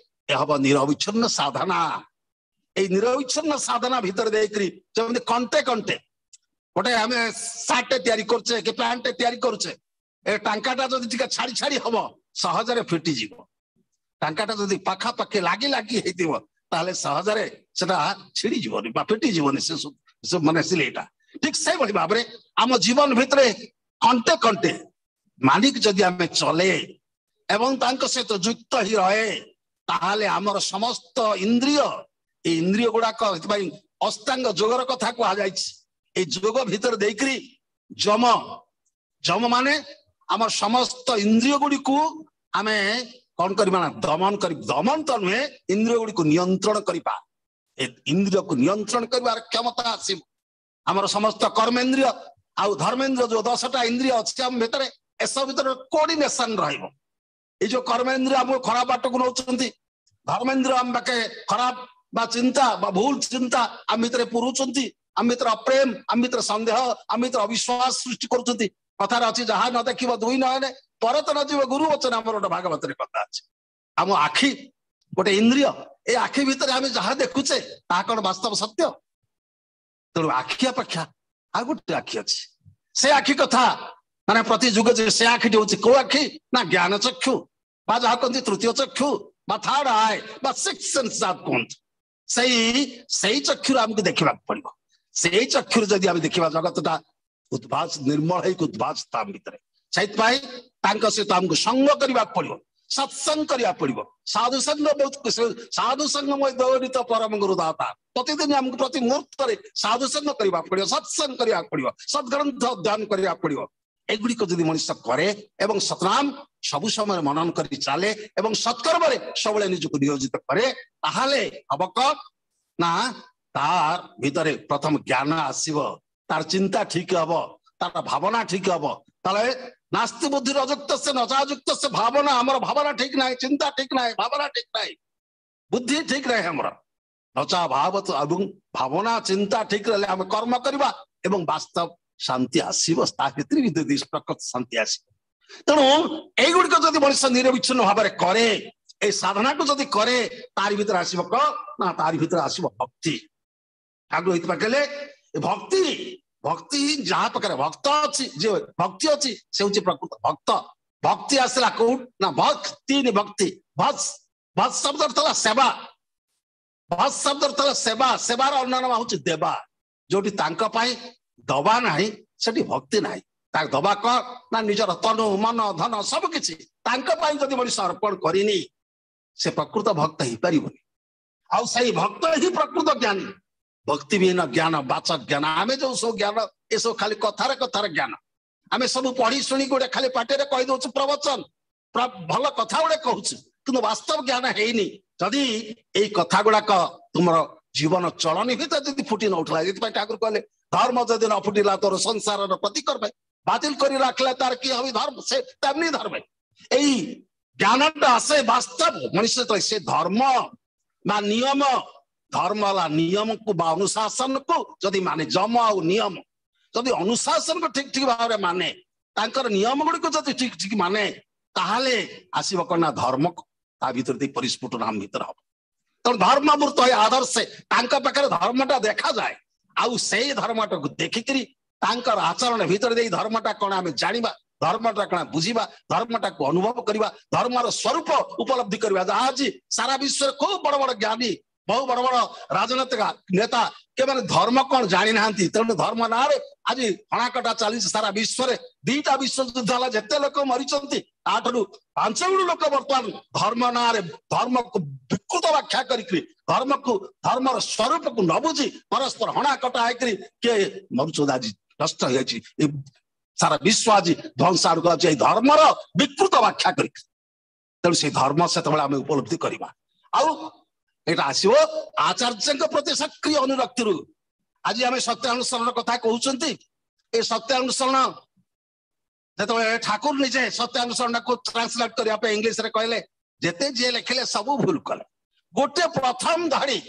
ଏ ହବ ନିରବିଚ୍ଛିନ୍ନ ସାଧନା। ଏଇ ନିରବିଚ୍ଛିନ୍ନ ସାଧନା ଭିତରେ ଦେଇକରି ଯେମିତି କଣ୍ଟେ କଣ୍ଟେ ଗୋଟେ ଆମେ ସାର୍ଟ ତିଆରି କରୁଛେ କି ପ୍ୟାଣ୍ଟ ତିଆରି କରୁଛେ, ଏ ଟାଙ୍କାଟା ଯଦି ଟିକେ ଛାଡି ଛାଡି ହବ ସହଜରେ ଫିଟିଯିବ। ଟାଙ୍କାଟା ଯଦି ପାଖାପାଖି ଲାଗି ଲାଗି ହେଇଥିବ ତାହେଲେ ସହଜରେ ସେଟା ଛିଡିଯିବନି ବା ଫିଟିଯିବନି ସେ ମାନେ ସିଲେଇଟା। ଠିକ ସେଇଭଳି ଭାବରେ ଆମ ଜୀବନ ଭିତରେ କଣ୍ଟେ କଣ୍ଟେ ମାନିକି ଯଦି ଆମେ ଚଲେ ଏବଂ ତାଙ୍କ ସହିତ ଯୁକ୍ତ ହେଇ ରହେ, ତାହେଲେ ଆମର ସମସ୍ତ ଇନ୍ଦ୍ରିୟ, ଏଇ ଇନ୍ଦ୍ରିୟ ଗୁଡାକ, ସେଥିପାଇଁ ଅଷ୍ଟାଙ୍ଗ ଯୋଗର କଥା କୁହାଯାଇଛି। ଏଇ ଯୋଗ ଭିତରେ ଦେଇକରି ଯମ, ଯମ ମାନେ ଆମର ସମସ୍ତ ଇନ୍ଦ୍ରିୟ ଗୁଡିକୁ ଆମେ କଣ କରିବା ନା ଦମନ କରି, ଦମନ ତ ନୁହେଁ, ଇନ୍ଦ୍ରିୟ ଗୁଡିକୁ ନିୟନ୍ତ୍ରଣ କରିବା। ଏ ଇନ୍ଦ୍ରିୟକୁ ନିୟନ୍ତ୍ରଣ କରିବାର କ୍ଷମତା ଆସିବ। ଆମର ସମସ୍ତ କର୍ମେନ୍ଦ୍ରିୟ ଆଉ ଧର୍ମେନ୍ଦ୍ରିୟ ଯୋଉ ଦଶଟା ଇନ୍ଦ୍ରିୟ ଅଛି ଆମ ଭିତରେ, ଏସବୁ ଭିତରେ କୋଅର୍ଡିନେସନ ରହିବ। ଏଇ ଯୋଉ କର୍ମେନ୍ଦ୍ରିୟ ଆମକୁ ଖରାପ ବାଟକୁ ନଉଛନ୍ତି, ଧର୍ମେନ୍ଦ୍ରିୟ ଆମ ପାଖେ ଖରାପ ବା ଚିନ୍ତା ବା ଭୁଲ ଚିନ୍ତା ଆମ ଭିତରେ ପୁରୁଛନ୍ତି, ଆମ ଭିତରେ ଅପ୍ରେମ, ଆମ ଭିତରେ ସନ୍ଦେହ, ଆମ ଭିତରେ ଅବିଶ୍ୱାସ ସୃଷ୍ଟି କରୁଛନ୍ତି। କଥାରେ ଅଛି, ଯାହା ନ ଦେଖିବ ଦୁଇ ନୟନେ ପରତ ନ ଯିବ ଗୁରୁ ବଚନ। ଆମର ଗୋଟେ ଭାଗବତରେ କଥା ଅଛି। ଆମ ଆଖି ଗୋଟେ ଇନ୍ଦ୍ରିୟ, ଏ ଆଖି ଭିତରେ ଆମେ ଯାହା ଦେଖୁଛେ ତାହା କଣ ବାସ୍ତବ ସତ୍ୟ? ତେଣୁ ଆଖି ଅପେକ୍ଷା ଆଉ ଗୋଟେ ଆଖି ଅଛି। ସେ ଆଖି କଥା ମାନେ ପ୍ରତି ଯୁଗ ଯେ ସେ ଆଖିଟି ହଉଛି କୋଉ ଆଖି ନା ଜ୍ଞାନ ଚକ୍ଷୁ, ବା ଯାହା କହନ୍ତି ତୃତୀୟ ଚକ୍ଷୁ ବା ଥାର୍ଡ ଆଇ ବା ସିକ୍ସ ସେନ୍ସ ଯାହା କୁହନ୍ତୁ, ସେଇ ସେଇ ଚକ୍ଷୁରୁ ଆମକୁ ଦେଖିବାକୁ ପଡିବ। ସେଇ ଚକ୍ଷୁରୁ ଯଦି ଆମେ ଦେଖିବା, ଜଗତଟା ଉଦ୍ଭାସ ନିର୍ମଳ ହେଇକି ଉଦ୍ଭାସ ତା ଭିତରେ। ସେଇଥିପାଇଁ ତାଙ୍କ ସହିତ ଆମକୁ ସଙ୍ଗ କରିବାକୁ ପଡିବ, ସତ୍ସଙ୍ଗ କରିବାକୁ ପଡିବ। ସାଧୁ ସଙ୍ଗ ବହୁତ, ସାଧୁ ସଙ୍ଗ ଦୌଡ଼ିତ ପରମ ଗୁରୁ ଦାତା। ପ୍ରତିଦିନ ଆମକୁ ପ୍ରତି ମୁହୂର୍ତ୍ତରେ ସାଧୁ ସଙ୍ଗ କରିବାକୁ ପଡିବ, ସତ୍ସଙ୍ଗ କରିବାକୁ ପଡିବ, ସଦ୍ଗ୍ରନ୍ଥ ଅଧ୍ୟୟନ କରିବାକୁ ପଡିବ। ଏଗୁଡିକ ଯଦି ମଣିଷ କରେ ଏବଂ ସତନାମ ସବୁ ସମୟରେ ମନନ କରି ଚାଲେ ଏବଂ ସତ୍କର୍ମରେ ସବୁବେଳେ ନିଜକୁ ନିୟୋଜିତ କରେ, ତାହେଲେ ହବ କଣ ନା ତାର ଭିତରେ ପ୍ରଥମ ଜ୍ଞାନ ଆସିବ, ତାର ଚିନ୍ତା ଠିକ ହବ, ତାର ଭାବନା ଠିକ ହବ। ତାହେଲେ ନାସ୍ତି ବୁଦ୍ଧି ଅଯୁକ୍ତ ସେ ନଚାଯୁକ୍ତ ସେ ଭାବନା, ଆମର ଭାବନା ଠିକ ନାହିଁ, ଚିନ୍ତା ଠିକ ନାହିଁ, ଭାବନା ଠିକ ନାହିଁ, ବୁଦ୍ଧି ଠିକ ନାହିଁ ଆମର। ନଚା ଭାବ ଏବଂ ଭାବନା ଚିନ୍ତା ଠିକ ରହିଲେ ଆମେ କର୍ମ କରିବା ଏବଂ ବାସ୍ତବ ଶାନ୍ତି ଆସିବ। ତା ଭିତରେ ବି ଯଦି ପ୍ରକୃତ ଶାନ୍ତି ଆସିବ। ତେଣୁ ଏଇଗୁଡିକ ଯଦି ମଣିଷ ନିରବିଚ୍ଛିନ୍ନ ଭାବରେ କରେ, ଏଇ ସାଧନାକୁ ଯଦି କରେ, ତାରି ଭିତରେ ଆସିବ କଣ ନା ତାରି ଭିତରେ ଆସିବ ଭକ୍ତି। ଠାକୁର ଏଇଥିପାଇଁ କହିଲେ ଭକ୍ତି, ଭକ୍ତି ଯାହା ପାଖରେ ଭକ୍ତ ଅଛି, ଯେ ଭକ୍ତି ଅଛି ସେ ହଉଛି ପ୍ରକୃତ ଭକ୍ତ। ଭକ୍ତି ଆସିଲା କୋଉଠୁ ନା ଭକ୍ତି, ଭକ୍ତି ଭସ୍, ଭସ୍ ଶବ୍ଦ ଅର୍ଥ ହେଲା ସେବା, ଭସ୍ ଶବ୍ଦ ଅର୍ଥ ହେଲା ସେବା। ସେବାର ଅନ୍ୟ ନାମ ହଉଛି ଦେବା। ଯୋଉଠି ତାଙ୍କ ପାଇଁ ଦବା ନାହିଁ ସେଠି ଭକ୍ତି ନାହିଁ। ତାକୁ ଦବା କଣ ନା ନିଜର ତନୁ ମନ ଧନ ସବୁ କିଛି ତାଙ୍କ ପାଇଁ ଯଦି ମଣିଷ ଅର୍ପଣ କରିନି, ସେ ପ୍ରକୃତ ଭକ୍ତ ହେଇପାରିବନି। ଆଉ ସେଇ ଭକ୍ତ ହିଁ ପ୍ରକୃତ ଜ୍ଞାନୀ। ଭକ୍ତି ବିହୀନ ଜ୍ଞାନ ବାଚକ ଜ୍ଞାନ। ଆମେ ଯୋଉ ସବୁ ଜ୍ଞାନ ଏସବୁ ଖାଲି କଥାରେ କଥାରେ ଜ୍ଞାନ। ଆମେ ସବୁ ପଢି ଶୁଣି ଗୋଟେ ଖାଲି ପାଟିରେ କହିଦଉଛୁ ପ୍ରବଚନ, ଭଲ କଥା ଗୁଡେ କହୁଛୁ, କିନ୍ତୁ ବାସ୍ତବ ଜ୍ଞାନ ହେଇନି। ଯଦି ଏଇ କଥା ଗୁଡାକ ତୁମର ଜୀବନ ଚଳନି ଭିତରେ ଯଦି ଫୁଟି ନ ଉଠିଲା, ଏଥିପାଇଁ ଠାକୁର କହିଲେ ଧର୍ମ ଯଦି ନ ଫୁଟିଲା ତୋର ସଂସାରର ପ୍ରତିକର୍ମେ ବାତିଲ କରି ରଖିଲା ତାର କି ହବି ଧର୍ମ, ସେ ତେମନି ଧର୍ମେ। ଏଇ ଜ୍ଞାନଟା ଆସେ ବାସ୍ତବ ମଣିଷ ଯେତେବେଳେ ସେ ଧର୍ମ ବା ନିୟମ, ଧର୍ମ ହେଲା ନିୟମକୁ ବା ଅନୁଶାସନକୁ ଯଦି ମାନେ, ଯମ ଆଉ ନିୟମ ଯଦି ଅନୁଶାସନକୁ ଠିକ ଠିକ ଭାବରେ ମାନେ, ତାଙ୍କର ନିୟମ ଗୁଡିକୁ ଯଦି ଠିକ ଠିକ ମାନେ, ତାହେଲେ ଆସିବ କଣ ନା ଧର୍ମ ତା ଭିତରେ ଦେଇ ପରିସ୍ଫୁଟନ ଆମ ଭିତରେ ହବ। ତେଣୁ ଧର୍ମମୂର୍ତ୍ତ ଆଦର୍ଶେ ତାଙ୍କ ପାଖରେ ଧର୍ମଟା ଦେଖାଯାଏ। ଆଉ ସେଇ ଧର୍ମଟାକୁ ଦେଖିକିରି ତାଙ୍କର ଆଚରଣ ଭିତରେ ଦେଇ ଧର୍ମଟା କଣ ଆମେ ଜାଣିବା, ଧର୍ମଟା କଣ ବୁଝିବା, ଧର୍ମଟାକୁ ଅନୁଭବ କରିବା, ଧର୍ମର ସ୍ୱରୂପ ଉପଲବ୍ଧି କରିବା। ଯାହା ଆଜି ସାରା ବିଶ୍ୱରେ ଖୁବ ବଡ ବଡ ଜ୍ଞାନୀ, ବହୁ ବଡ ବଡ ରାଜନୈତିକ ନେତା କେମାନେ ଧର୍ମ କଣ ଜାଣିନାହାନ୍ତି। ତେଣୁ ଧର୍ମ ନାଁରେ ଆଜି ହଣାକଟା ଚାଲିଛି ସାରା ବିଶ୍ୱରେ। ଦିଟା ବିଶ୍ୱଯୁଦ୍ଧ ହେଲା, ଯେତେ ଲୋକ ମରିଛନ୍ତି ତାଠାରୁ ପାଞ୍ଚ ଗୁଣ ଲୋକ ବର୍ତ୍ତମାନ ଧର୍ମ ନାଁରେ ଧର୍ମକୁ ବିକୃତ ବ୍ୟାଖ୍ୟା କରିକିରି, ଧର୍ମକୁ ଧର୍ମର ସ୍ୱରୂପକୁ ନ ବୁଝି ପରସ୍ପର ହଣାକଟା ହେଇକିରି କିଏ ମରୁଛନ୍ତି, ଆଜି ନଷ୍ଟ ହେଇଯାଇଛି ସାରା ବିଶ୍ୱ, ଆଜି ଧ୍ୱଂସ ଆଡକୁ ଅଛି ଏଇ ଧର୍ମର ବିକୃତ ବ୍ୟାଖ୍ୟା କରିକି। ତେଣୁ ସେଇ ଧର୍ମ ସେତେବେଳେ ଆମେ ଉପଲବ୍ଧି କରିବା। ଆଉ ଏଇଟା ଆସିବ ଆଚାର୍ଯ୍ୟଙ୍କ ପ୍ରତି ସକ୍ରିୟ ଅନୁରକ୍ତିରୁ। ଆଜି ଆମେ ସତ୍ୟାନୁସରଣ କଥା କହୁଛନ୍ତି। ଏ ସତ୍ୟାନୁସରଣ ଯେତେବେଳେ ଠାକୁର ନିଜେ ସତ୍ୟାନୁସରଣକୁ ଟ୍ରାନ୍ସଲେଟ କରିବା ପାଇଁ ଇଂଲିଶରେ କହିଲେ, ଯେତେ ଯିଏ ଲେଖିଲେ ସବୁ ଭୁଲ କଲେ। ଗୋଟେ ପ୍ରଥମ ଧାଡି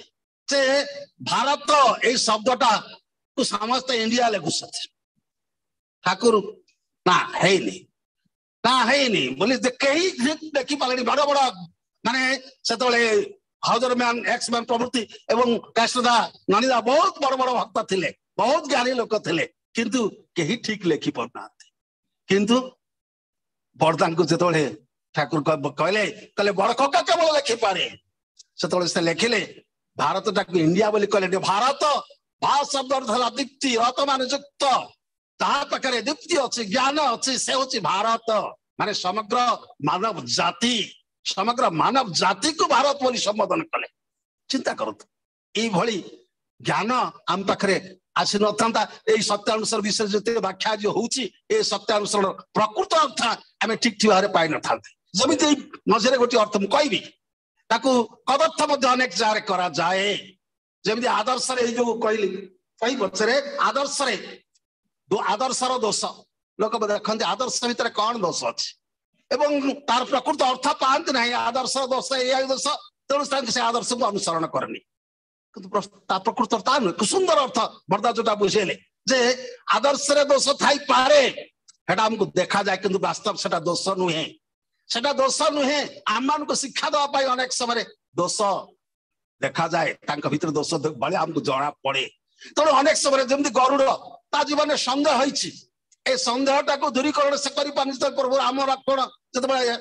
ଯେ ଭାରତ ଏଇ ଶବ୍ଦଟା କୁ ସମସ୍ତେ ଇଣ୍ଡିଆ ଲେଖୁଛନ୍ତି। ଠାକୁର ନା ହେଇନି, ନା ହେଇନି ବୋଲି କେହି ଦେଖିପାରିଲେନି। ବଡ ବଡ ମାନେ ସେତେବେଳେ ହାଉଜର ମ୍ୟାନ, ଏକ୍ସ ମ୍ୟାନ ପ୍ରଭୃତି ଏବଂ କାଶଦା ନନିଦା ବହୁତ ବଡ ବଡ ଭକ୍ତ ଥିଲେ, ବହୁତ ଜ୍ଞାନୀ ଲୋକ ଥିଲେ, କିନ୍ତୁ କେହି ଠିକ ଲେଖି ପାରୁନାହାନ୍ତି। କିନ୍ତୁ ବଡଦାଙ୍କୁ ଯେତେବେଳେ ଠାକୁର କହିଲେ, କହିଲେ ବଡ କକା କେବଳ ଲେଖିପାରେ, ସେତେବେଳେ ସେ ଲେଖିଲେ ଭାରତଟାକୁ ଇଣ୍ଡିଆ ବୋଲି କହିଲେ। ଭାରତ ଭା ଶବ୍ଦ ଅର୍ଥ ହେଲା ଦୀପ୍ତି, ରତ ମାନେ ଯୁକ୍ତ, ତାହା ପାଖରେ ଦୀପ୍ତି ଅଛି, ଜ୍ଞାନ ଅଛି, ସେ ହଉଛି ଭାରତ। ମାନେ ସମଗ୍ର ମାନବ ଜାତି, ସମଗ୍ର ମାନବ ଜାତିକୁ ଭାରତ ବୋଲି ସମ୍ବୋଧନ କଲେ। ଚିନ୍ତା କରନ୍ତୁ, ଏଇଭଳି ଜ୍ଞାନ ଆମ ପାଖରେ ଆସିନଥାନ୍ତା। ଏଇ ସତ୍ୟାନୁସରଣ ବିଷୟରେ ଯେତେ ବ୍ୟାଖ୍ୟା ଆଜି ହଉଛି, ଏ ସତ୍ୟାନୁସରଣ ପ୍ରକୃତ ଅର୍ଥ ଆମେ ଠିକ ଠିକ ଭାବରେ ପାଇନଥାନ୍ତେ। ଯେମିତି ମଝିରେ ଗୋଟିଏ ଅର୍ଥ ମୁଁ କହିବି, ତାକୁ କଦର୍ଥ ମଧ୍ୟ ଅନେକ ଜାଗାରେ କରାଯାଏ। ଯେମିତି ଆଦର୍ଶରେ ଏଇ ଯୋଉ କହିଲି କହି ପଛରେ ଆଦର୍ଶରେ ଆଦର୍ଶର ଦୋଷ, ଲୋକ ଦେଖନ୍ତି ଆଦର୍ଶ ଭିତରେ କଣ ଦୋଷ ଅଛି ଏବଂ ତାର ପ୍ରକୃତ ଅର୍ଥ ପାଆନ୍ତି ନାହିଁ। ଆଦର୍ଶର ଦୋଷ ଏଇଆ ଦୋଷ, ତେଣୁ ତାଙ୍କୁ ସେ ଆଦର୍ଶକୁ ଅନୁସରଣ କରେନି। କିନ୍ତୁ ତା ପ୍ରକୃତ ତା ନୁହେଁ। ସୁନ୍ଦର ଅର୍ଥ ବର୍ଦ୍ଦା ଯୋଉଟା ବୁଝେଇଲେ ଯେ ଆଦର୍ଶରେ ଦୋଷ ଥାଇପାରେ, ସେଟା ଆମକୁ ଦେଖାଯାଏ, କିନ୍ତୁ ବାସ୍ତବ ସେଟା ଦୋଷ ନୁହେଁ। ସେଟା ଦୋଷ ନୁହେଁ। ଆମମାନଙ୍କୁ ଶିକ୍ଷା ଦେବା ପାଇଁ ଅନେକ ସମୟରେ ଦୋଷ ଦେଖାଯାଏ, ତାଙ୍କ ଭିତରେ ଦୋଷ ଭଳି ଆମକୁ ଜଣା ପଡେ। ତେଣୁ ଅନେକ ସମୟରେ ଯେମିତି ଗରୁଡ, ତା ଜୀବନରେ ସନ୍ଦେହ ହେଇଛି, ଏ ସନ୍ଦେହଟାକୁ ଦୂରୀକରଣ ସେ କରିପାରୁନି। ପ୍ରଭୁ ରାମ ଲକ୍ଷ୍ମଣ ଯେତେବେଳେ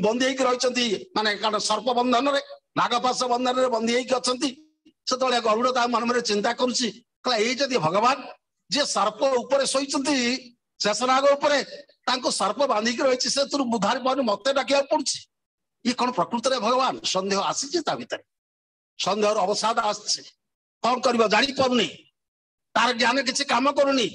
ବନ୍ଦୀ ହେଇକି ରହିଛନ୍ତି, ମାନେ କାରଣ ସର୍ପ ବନ୍ଧନରେ, ନାଗପାଶ ବନ୍ଧନରେ ବନ୍ଦୀ ହେଇକି ଅଛନ୍ତି, ସେତେବେଳେ ଗରୁଡ ତା ମନ ମନରେ ଚିନ୍ତା କରୁଛି, କହିଲା ଏଇ ଯଦି ଭଗବାନ ଯିଏ ସର୍ପ ଉପରେ ଶୋଇଛନ୍ତି, ଶେଷନାଗ ଉପରେ, ତାଙ୍କୁ ସର୍ପ ବାନ୍ଧିକି ରହିଛି, ସେଥିରୁ ଉଦ୍ଧାର ପାଉନି, ମତେ ଡାକିବାକୁ ପଡୁଛି, ଇଏ କଣ ପ୍ରକୃତରେ ଭଗବାନ? ସନ୍ଦେହ ଆସିଛି ତା ଭିତରେ, ସନ୍ଦେହର ଅବସାଦ ଆସିଛି, କଣ କରିବ ଜାଣିପାରୁନି, ତାର ଜ୍ଞାନ କିଛି କାମ କରୁନି,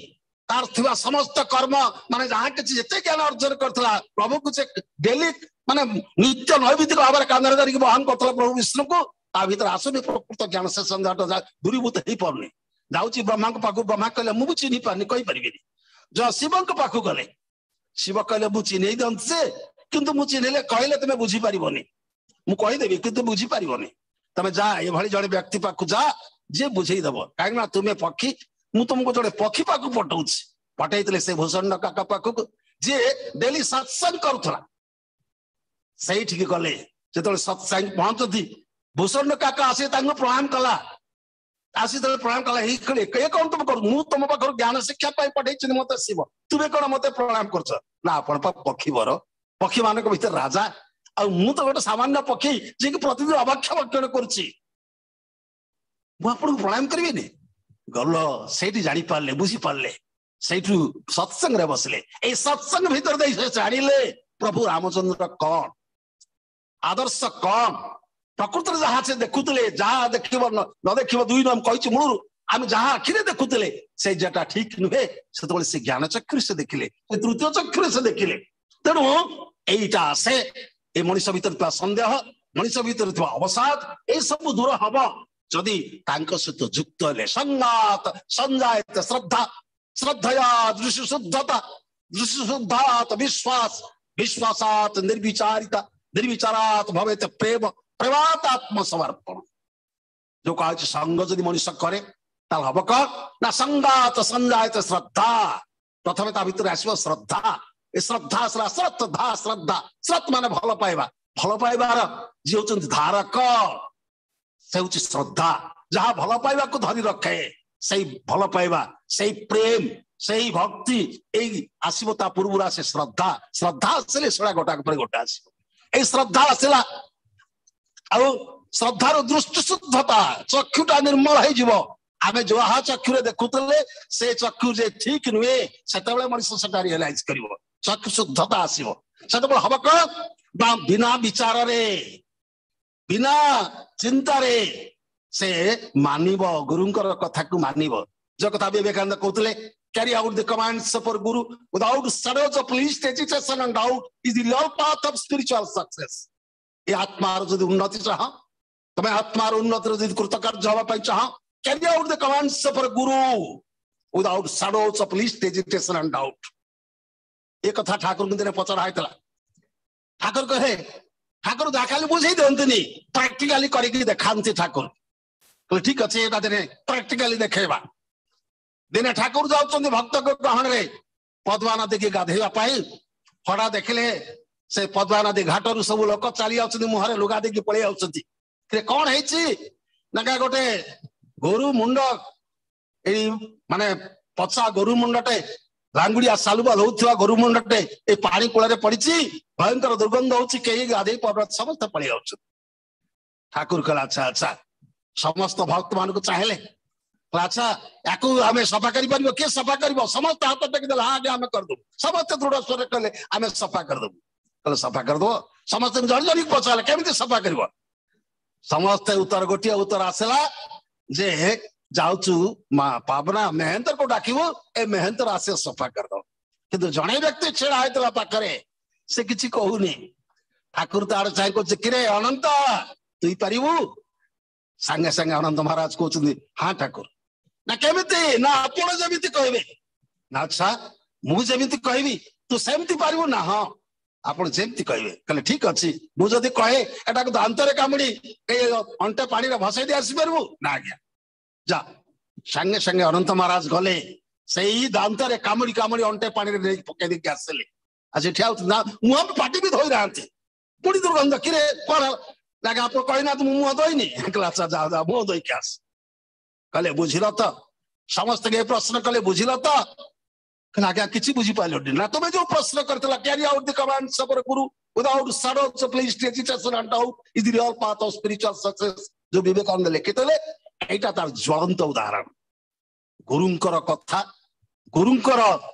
ତାର ଥିବା ସମସ୍ତ କର୍ମ ମାନେ ଯାହା କିଛି ଯେତେ ଜ୍ଞାନ ଅର୍ଜନ କରିଥିଲା, ପ୍ରଭୁକୁ ସେ ଡେଲି ମାନେ ନିତ୍ୟ ନୈମିତିକ ଭାବରେ କାନ୍ଧରେ ଧରିକି ବହନ କରୁଥିଲା ପ୍ରଭୁ ବିଷ୍ଣୁକୁ, ତା ଭିତରେ ଆସୁନି ପ୍ରକୃତ ଜ୍ଞାନ। ସେ ସନ୍ଦେହଟା ଦୂରୀଭୂତ ହେଇପାରୁନି। ଯାଉଛି ବ୍ରହ୍ମାଙ୍କ ପାଖକୁ, ବ୍ରହ୍ମା କହିଲେ ମୁଁ ବି ଚିହ୍ନି ପାରୁନି, କହିପାରିବିନି। ଯ ଶିବଙ୍କ ପାଖକୁ ଗଲେ, ଶିବ କହିଲେ ମୁଁ ଚିହ୍ନେଇ ଦିଅନ୍ତି ଯେ, କିନ୍ତୁ ମୁଁ ଚିହ୍ନିଲେ କହିଲେ ତମେ ବୁଝିପାରିବନି, ମୁଁ କହିଦେବି କିନ୍ତୁ ବୁଝିପାରିବନି, ତମେ ଯା ଏଭଳି ଜଣେ ବ୍ୟକ୍ତି ପାଖକୁ ଯା ଯିଏ ବୁଝେଇଦବ, କାହିଁକି ନା ତୁମେ ପକ୍ଷୀ, ମୁଁ ତୁମକୁ ଜଣେ ପକ୍ଷୀ ପାଖକୁ ପଠଉଛି। ପଠେଇଥିଲେ ସେ ଭୂଷଣ୍ଡ କାକା ପାଖକୁ, ଯିଏ ଡେଲି ସତ୍ସଙ୍ଗ କରୁଥିଲା। ସେଇଠିକି ଗଲେ, ଯେତେବେଳେ ସତ୍ସଙ୍ଗ ପହଞ୍ଚନ୍ତି, ଭୂଷଣ୍ଡ କାକା ଆସି ତାଙ୍କୁ ପ୍ରଣାମ କଲା। ଆସି ଯେତେବେଳେ ପ୍ରଣାମ କଲା, ଏଇ ଏ କଣ ତୁମେ କରୁ, ମୁଁ ତୁମ ପାଖରୁ ଜ୍ଞାନ ଶିକ୍ଷା ପାଇଁ ପଠେଇଛନ୍ତି ମତେ ଶିବ, ତୁମେ କଣ ମତେ ପ୍ରଣାମ କରୁଛ? ନା ଆପଣ ପା ପକ୍ଷୀ ବର, ପକ୍ଷୀ ମାନଙ୍କ ଭିତରେ ରାଜା, ଆଉ ମୁଁ ତ ଗୋଟେ ସାମାନ୍ୟ ପକ୍ଷୀ ଯିଏକି ପ୍ରତିଦିନ ଅଭକ୍ଷ ଭକ୍ଷଣ କରୁଛି, ମୁଁ ଆପଣଙ୍କୁ ପ୍ରଣାମ କରିବିନି? ଗଲ ସେଇଠି ଜାଣିପାରିଲେ, ବୁଝିପାରିଲେ, ସେଇଠୁ ସତ୍ସଙ୍ଗରେ ବସିଲେ। ଏଇ ସତ୍ସଙ୍ଗ ଭିତରେ ଦେଇ ସେ ଜାଣିଲେ ପ୍ରଭୁ ରାମଚନ୍ଦ୍ର କଣ, ଆଦର୍ଶ କଣ, ପ୍ରକୃତରେ ଯାହା ସେ ଦେଖୁଥିଲେ, ଯାହା ଦେଖିବ ନ ଦେଖିବ ଦୁଇ ନାମ କହିଛି ମୂଳରୁ, ଆମେ ଯାହା ଆଖିରେ ଦେଖୁଥିଲେ ସେ ଯେଟା ଠିକ ନୁହେଁ, ସେତେବେଳେ ସେ ଜ୍ଞାନ ଚକ୍ଷୁରେ ସେ ଦେଖିଲେ, ସେ ତୃତୀୟ ଚକ୍ଷୁରେ ସେ ଦେଖିଲେ। ତେଣୁ ଏଇଟା ଆସେ ଏ ମଣିଷ ଭିତରେ ଥିବା ସନ୍ଦେହ, ମଣିଷ ଭିତରେ ଥିବା ଅବସାଦ, ଏସବୁ ଦୂର ହବ ଯଦି ତାଙ୍କ ସହିତ ଯୁକ୍ତ ହେଲେ। ସଙ୍ଗାତ ସଞ୍ଜାୟତ ଶ୍ରଦ୍ଧା, ଶ୍ରଦ୍ଧୟା ଦୃଶ୍ୟ ଶୁଦ୍ଧତା, ଦୃଶ୍ୟ ଶୁଦ୍ଧାତ ବିଶ୍ୱାସ, ବିଶ୍ୱାସାତ ନିର୍ବିଚାରିତା, ନିର୍ବିଚାରାତ ଭବେତ ପ୍ରେମ, ପ୍ରେମାତ ଆତ୍ମସମର୍ପଣ। ଯୋଉ କୁହାଯାଉଛି ସଙ୍ଗ ଯଦି ମଣିଷ କରେ ତାହେଲେ ହବ କଣ ନା ସଙ୍ଗାତ ସଞ୍ଜାୟତ ଶ୍ରଦ୍ଧା। ପ୍ରଥମେ ତା ଭିତରେ ଆସିବ ଶ୍ରଦ୍ଧା। ଏ ଶ୍ରଦ୍ଧା ଆସିଲା ଶ୍ରଦ୍ଧା, ଶ୍ରଦ୍ଧା, ଶ୍ରତ୍ ମାନେ ଭଲ ପାଇବା, ଭଲ ପାଇବାର ଯିଏ ହଉଛନ୍ତି ଧାରକ ସେ ହଉଛି ଶ୍ରଦ୍ଧା। ଯାହା ଭଲ ପାଇବାକୁ ଧରି ରଖେ ସେଇ ଭଲ ପାଇବା, ସେଇ ପ୍ରେମ, ସେଇ ଭକ୍ତି, ଏଇ ଆସିବ ତା ପୂର୍ବରୁ ଆସେ ଶ୍ରଦ୍ଧା। ଶ୍ରଦ୍ଧା ଆସିଲେ ସେଟା ଗୋଟାକ ପରେ ଗୋଟେ ଆସିବ। ଏଇ ଶ୍ରଦ୍ଧା ଆସିଲା, ଆଉ ଶ୍ରଦ୍ଧାର ଦୃଷ୍ଟି ଶୁଦ୍ଧତା, ଚକ୍ଷୁଟା ନିର୍ମଳ ହେଇଯିବ। ଆମେ ଯାହା ଚକ୍ଷୁରେ ଦେଖୁଥିଲେ ସେ ଚକ୍ଷୁ ଯେ ଠିକ ନୁହେଁ, ସେତେବେଳେ ମଣିଷ ସେଟା ରିଏଲାଇଜ କରିବ, ଚକ୍ଷୁ ଶୁଦ୍ଧତା ଆସିବ। ସେତେବେଳେ ହବ କଣ ନା ବିନା ବିଚାରରେ, ବିନା ଚିନ୍ତାରେ ସେ ମାନିବ, ଗୁରୁଙ୍କର କଥାକୁ ମାନିବ। ଯୋଉ କଥା ବିବେକାନନ୍ଦ କହୁଥିଲେ, carry out the commands of our guru without shadows of least hesitation and doubt is the real path of spiritual success. ଏ ଆତ୍ମାର ଯଦି ଉନ୍ନତି ଚାହଁ, ତମେ ଆତ୍ମାର ଉନ୍ନତିର ଯଦି କୃତକାର୍ଯ୍ୟ ହବା ପାଇଁ ଚାହଁ, carry out the commands of our guru without shadows of least hesitation and doubt. ଏ କଥା ଠାକୁରଙ୍କୁ ଦିନେ ପଚରା ହେଇଥିଲା। ଠାକୁର କହେ, ଠାକୁର ଯାହା ଖାଲି ବୁଝେଇ ଦିଅନ୍ତିନି, ପ୍ରାକ୍ଟିକାଲି କରିକି ଦେଖାନ୍ତି ଠାକୁର। କହିଲେ ଠିକ ଅଛି, ଏଇଟା ଦିନେ ପ୍ରାକ୍ଟିକାଲି ଦେଖେଇବା। ଦିନେ ଠାକୁର ଯାଉଛନ୍ତି ଭକ୍ତଙ୍କ ଗହଣରେ ପଦ୍ମା ନଦୀକି ଗାଧେଇବା ପାଇଁ। ହଠାତ୍ ଦେଖିଲେ ସେ ପଦ୍ମା ନଦୀ ଘାଟରୁ ସବୁ ଲୋକ ଚାଲି ଯାଉଛନ୍ତି, ମୁହଁରେ ଲୁଗା ଦେଇକି ପଳେଇ ଯାଉଛନ୍ତି। କଣ ହେଇଛି ନା ଗୋଟେ ଗୋରୁ ମୁଣ୍ଡ, ଏଇ ମାନେ ପଚା ଗୋରୁ ମୁଣ୍ଡଟେ, ଲାଙ୍ଗୁଡିଆ ସାଲୁବାଲ ହଉଥିବା ଗୋରୁ ମୁଣ୍ଡଟେ ଏଇ ପାଣି କୂଳରେ ପଡିଛି, ଭୟଙ୍କର ଦୁର୍ଗନ୍ଧ ହଉଛି, କେହି ଗାଧେଇ ପାରୁନାହାନ୍ତି, ସମସ୍ତେ ପଳେଇ ଯାଉଛନ୍ତି। ଠାକୁର କହିଲେ ଆଚ୍ଛା ଆଚ୍ଛା, ସମସ୍ତ ଭକ୍ତ ମାନଙ୍କୁ ଚାହିଁଲେ, ଆଚ୍ଛା ୟାକୁ ଆମେ ସଫା କରିପାରିବ? କିଏ ସଫା କରିବ? ସମସ୍ତେ ହାତ ଟେକିଦେଲେ, ହଁ ଆଜ୍ଞା ଆମେ କରିଦବୁ। ସମସ୍ତେ ଦୃଢ ସ୍ୱରରେ କହିଲେ ଆମେ ସଫା କରିଦବୁ। କହିଲେ ସଫା କରିଦବ? ସମସ୍ତଙ୍କୁ ଜଣେ ଜଣିକି ପଚାରିଲେ କେମିତି ସଫା କରିବ? ସମସ୍ତେ ଉତ୍ତର, ଗୋଟିଏ ଉତ୍ତର ଆସିଲା ଯେ ଯାଉଛୁ ମା ପାବନା ମେହେନ୍ତରକୁ ଡାକିବୁ, ଏ ମେହେନ୍ତର ଆସିବ ସଫା କରିଦବ। କିନ୍ତୁ ଜଣେ ବ୍ୟକ୍ତି ଛିଡା ହେଇଥିଲା ପାଖରେ, ସେ କିଛି କହୁନି। ଠାକୁର ତ ଆଡେ ଚାହିଁ କହୁଛି, କିରେ ଅନନ୍ତ ତୁଇ ପାରିବୁ? ସାଙ୍ଗେ ସାଙ୍ଗେ ଅନନ୍ତ ମହାରାଜ କହୁଛନ୍ତି ହଁ ଠାକୁର। ନା କେମିତି? ନା ଆପଣ ଯେମିତି କହିବେ। ନା ଆଚ୍ଛା ମୁଁ ଯେମିତି କହିବି ତୁ ସେମିତି ପାରିବୁ? ନା ହଁ ଆପଣ ଯେମିତି କହିବେ। କହିଲେ ଠିକ ଅଛି, ମୁଁ ଯଦି କହେ ଏଟାକୁ ଦାନ୍ତରେ କାମୁଡି ଏଇ ଅଣ୍ଟେ ପାଣିରେ ଭସେଇ ଦେଇ ଆସିପାରିବୁ? ନା ଆଜ୍ଞା ଯା। ସାଙ୍ଗେ ସାଙ୍ଗେ ଅନନ୍ତ ମହାରାଜ ଗଲେ, ସେଇ ଦାନ୍ତରେ କାମୁଡି କାମୁଡି ଅଣ୍ଟେ ପାଣିରେ ନେଇକି ପକେଇ ଦେଇକି ଆସିଲେ। ଆଉ ସେଠି ଆଉ ନା ମୁହଁ ପାଟି ବି ଧୋଇନାହାନ୍ତି, ପୁଣି ଦୁର୍ଗନ୍ଧ। କିରେ କଣ ଲାଗେ ଆପଣ କହିନାହାନ୍ତି ମୁଁ ମୁହଁ ଧୋଇନି? କହିଲା ଆଚ୍ଛା ଯା ଯା ମୁହଁ ଧୋଇକି ଆସ। କହିଲେ ବୁଝିଲ ତ? ସମସ୍ତଙ୍କୁ ଏ ପ୍ରଶ୍ନ କଲେ ବୁଝିଲ ତ? କହିଲେ ଆଜ୍ଞା କିଛି ବୁଝିପାରିଲନି। ନା ତମେ ଯୋଉ ପ୍ରଶ୍ନ କରିଥିଲ carry out the commands of guru without shadows of least hesitation and doubt is the real path of spiritual success, ଯୋଉ ବିବେକାନନ୍ଦ ଲେଖିଥିଲେ, ଏଇଟା ତାର ଜ୍ୱଳନ୍ତ ଉଦାହରଣ। ଗୁରୁଙ୍କର କଥା, ଗୁରୁଙ୍କର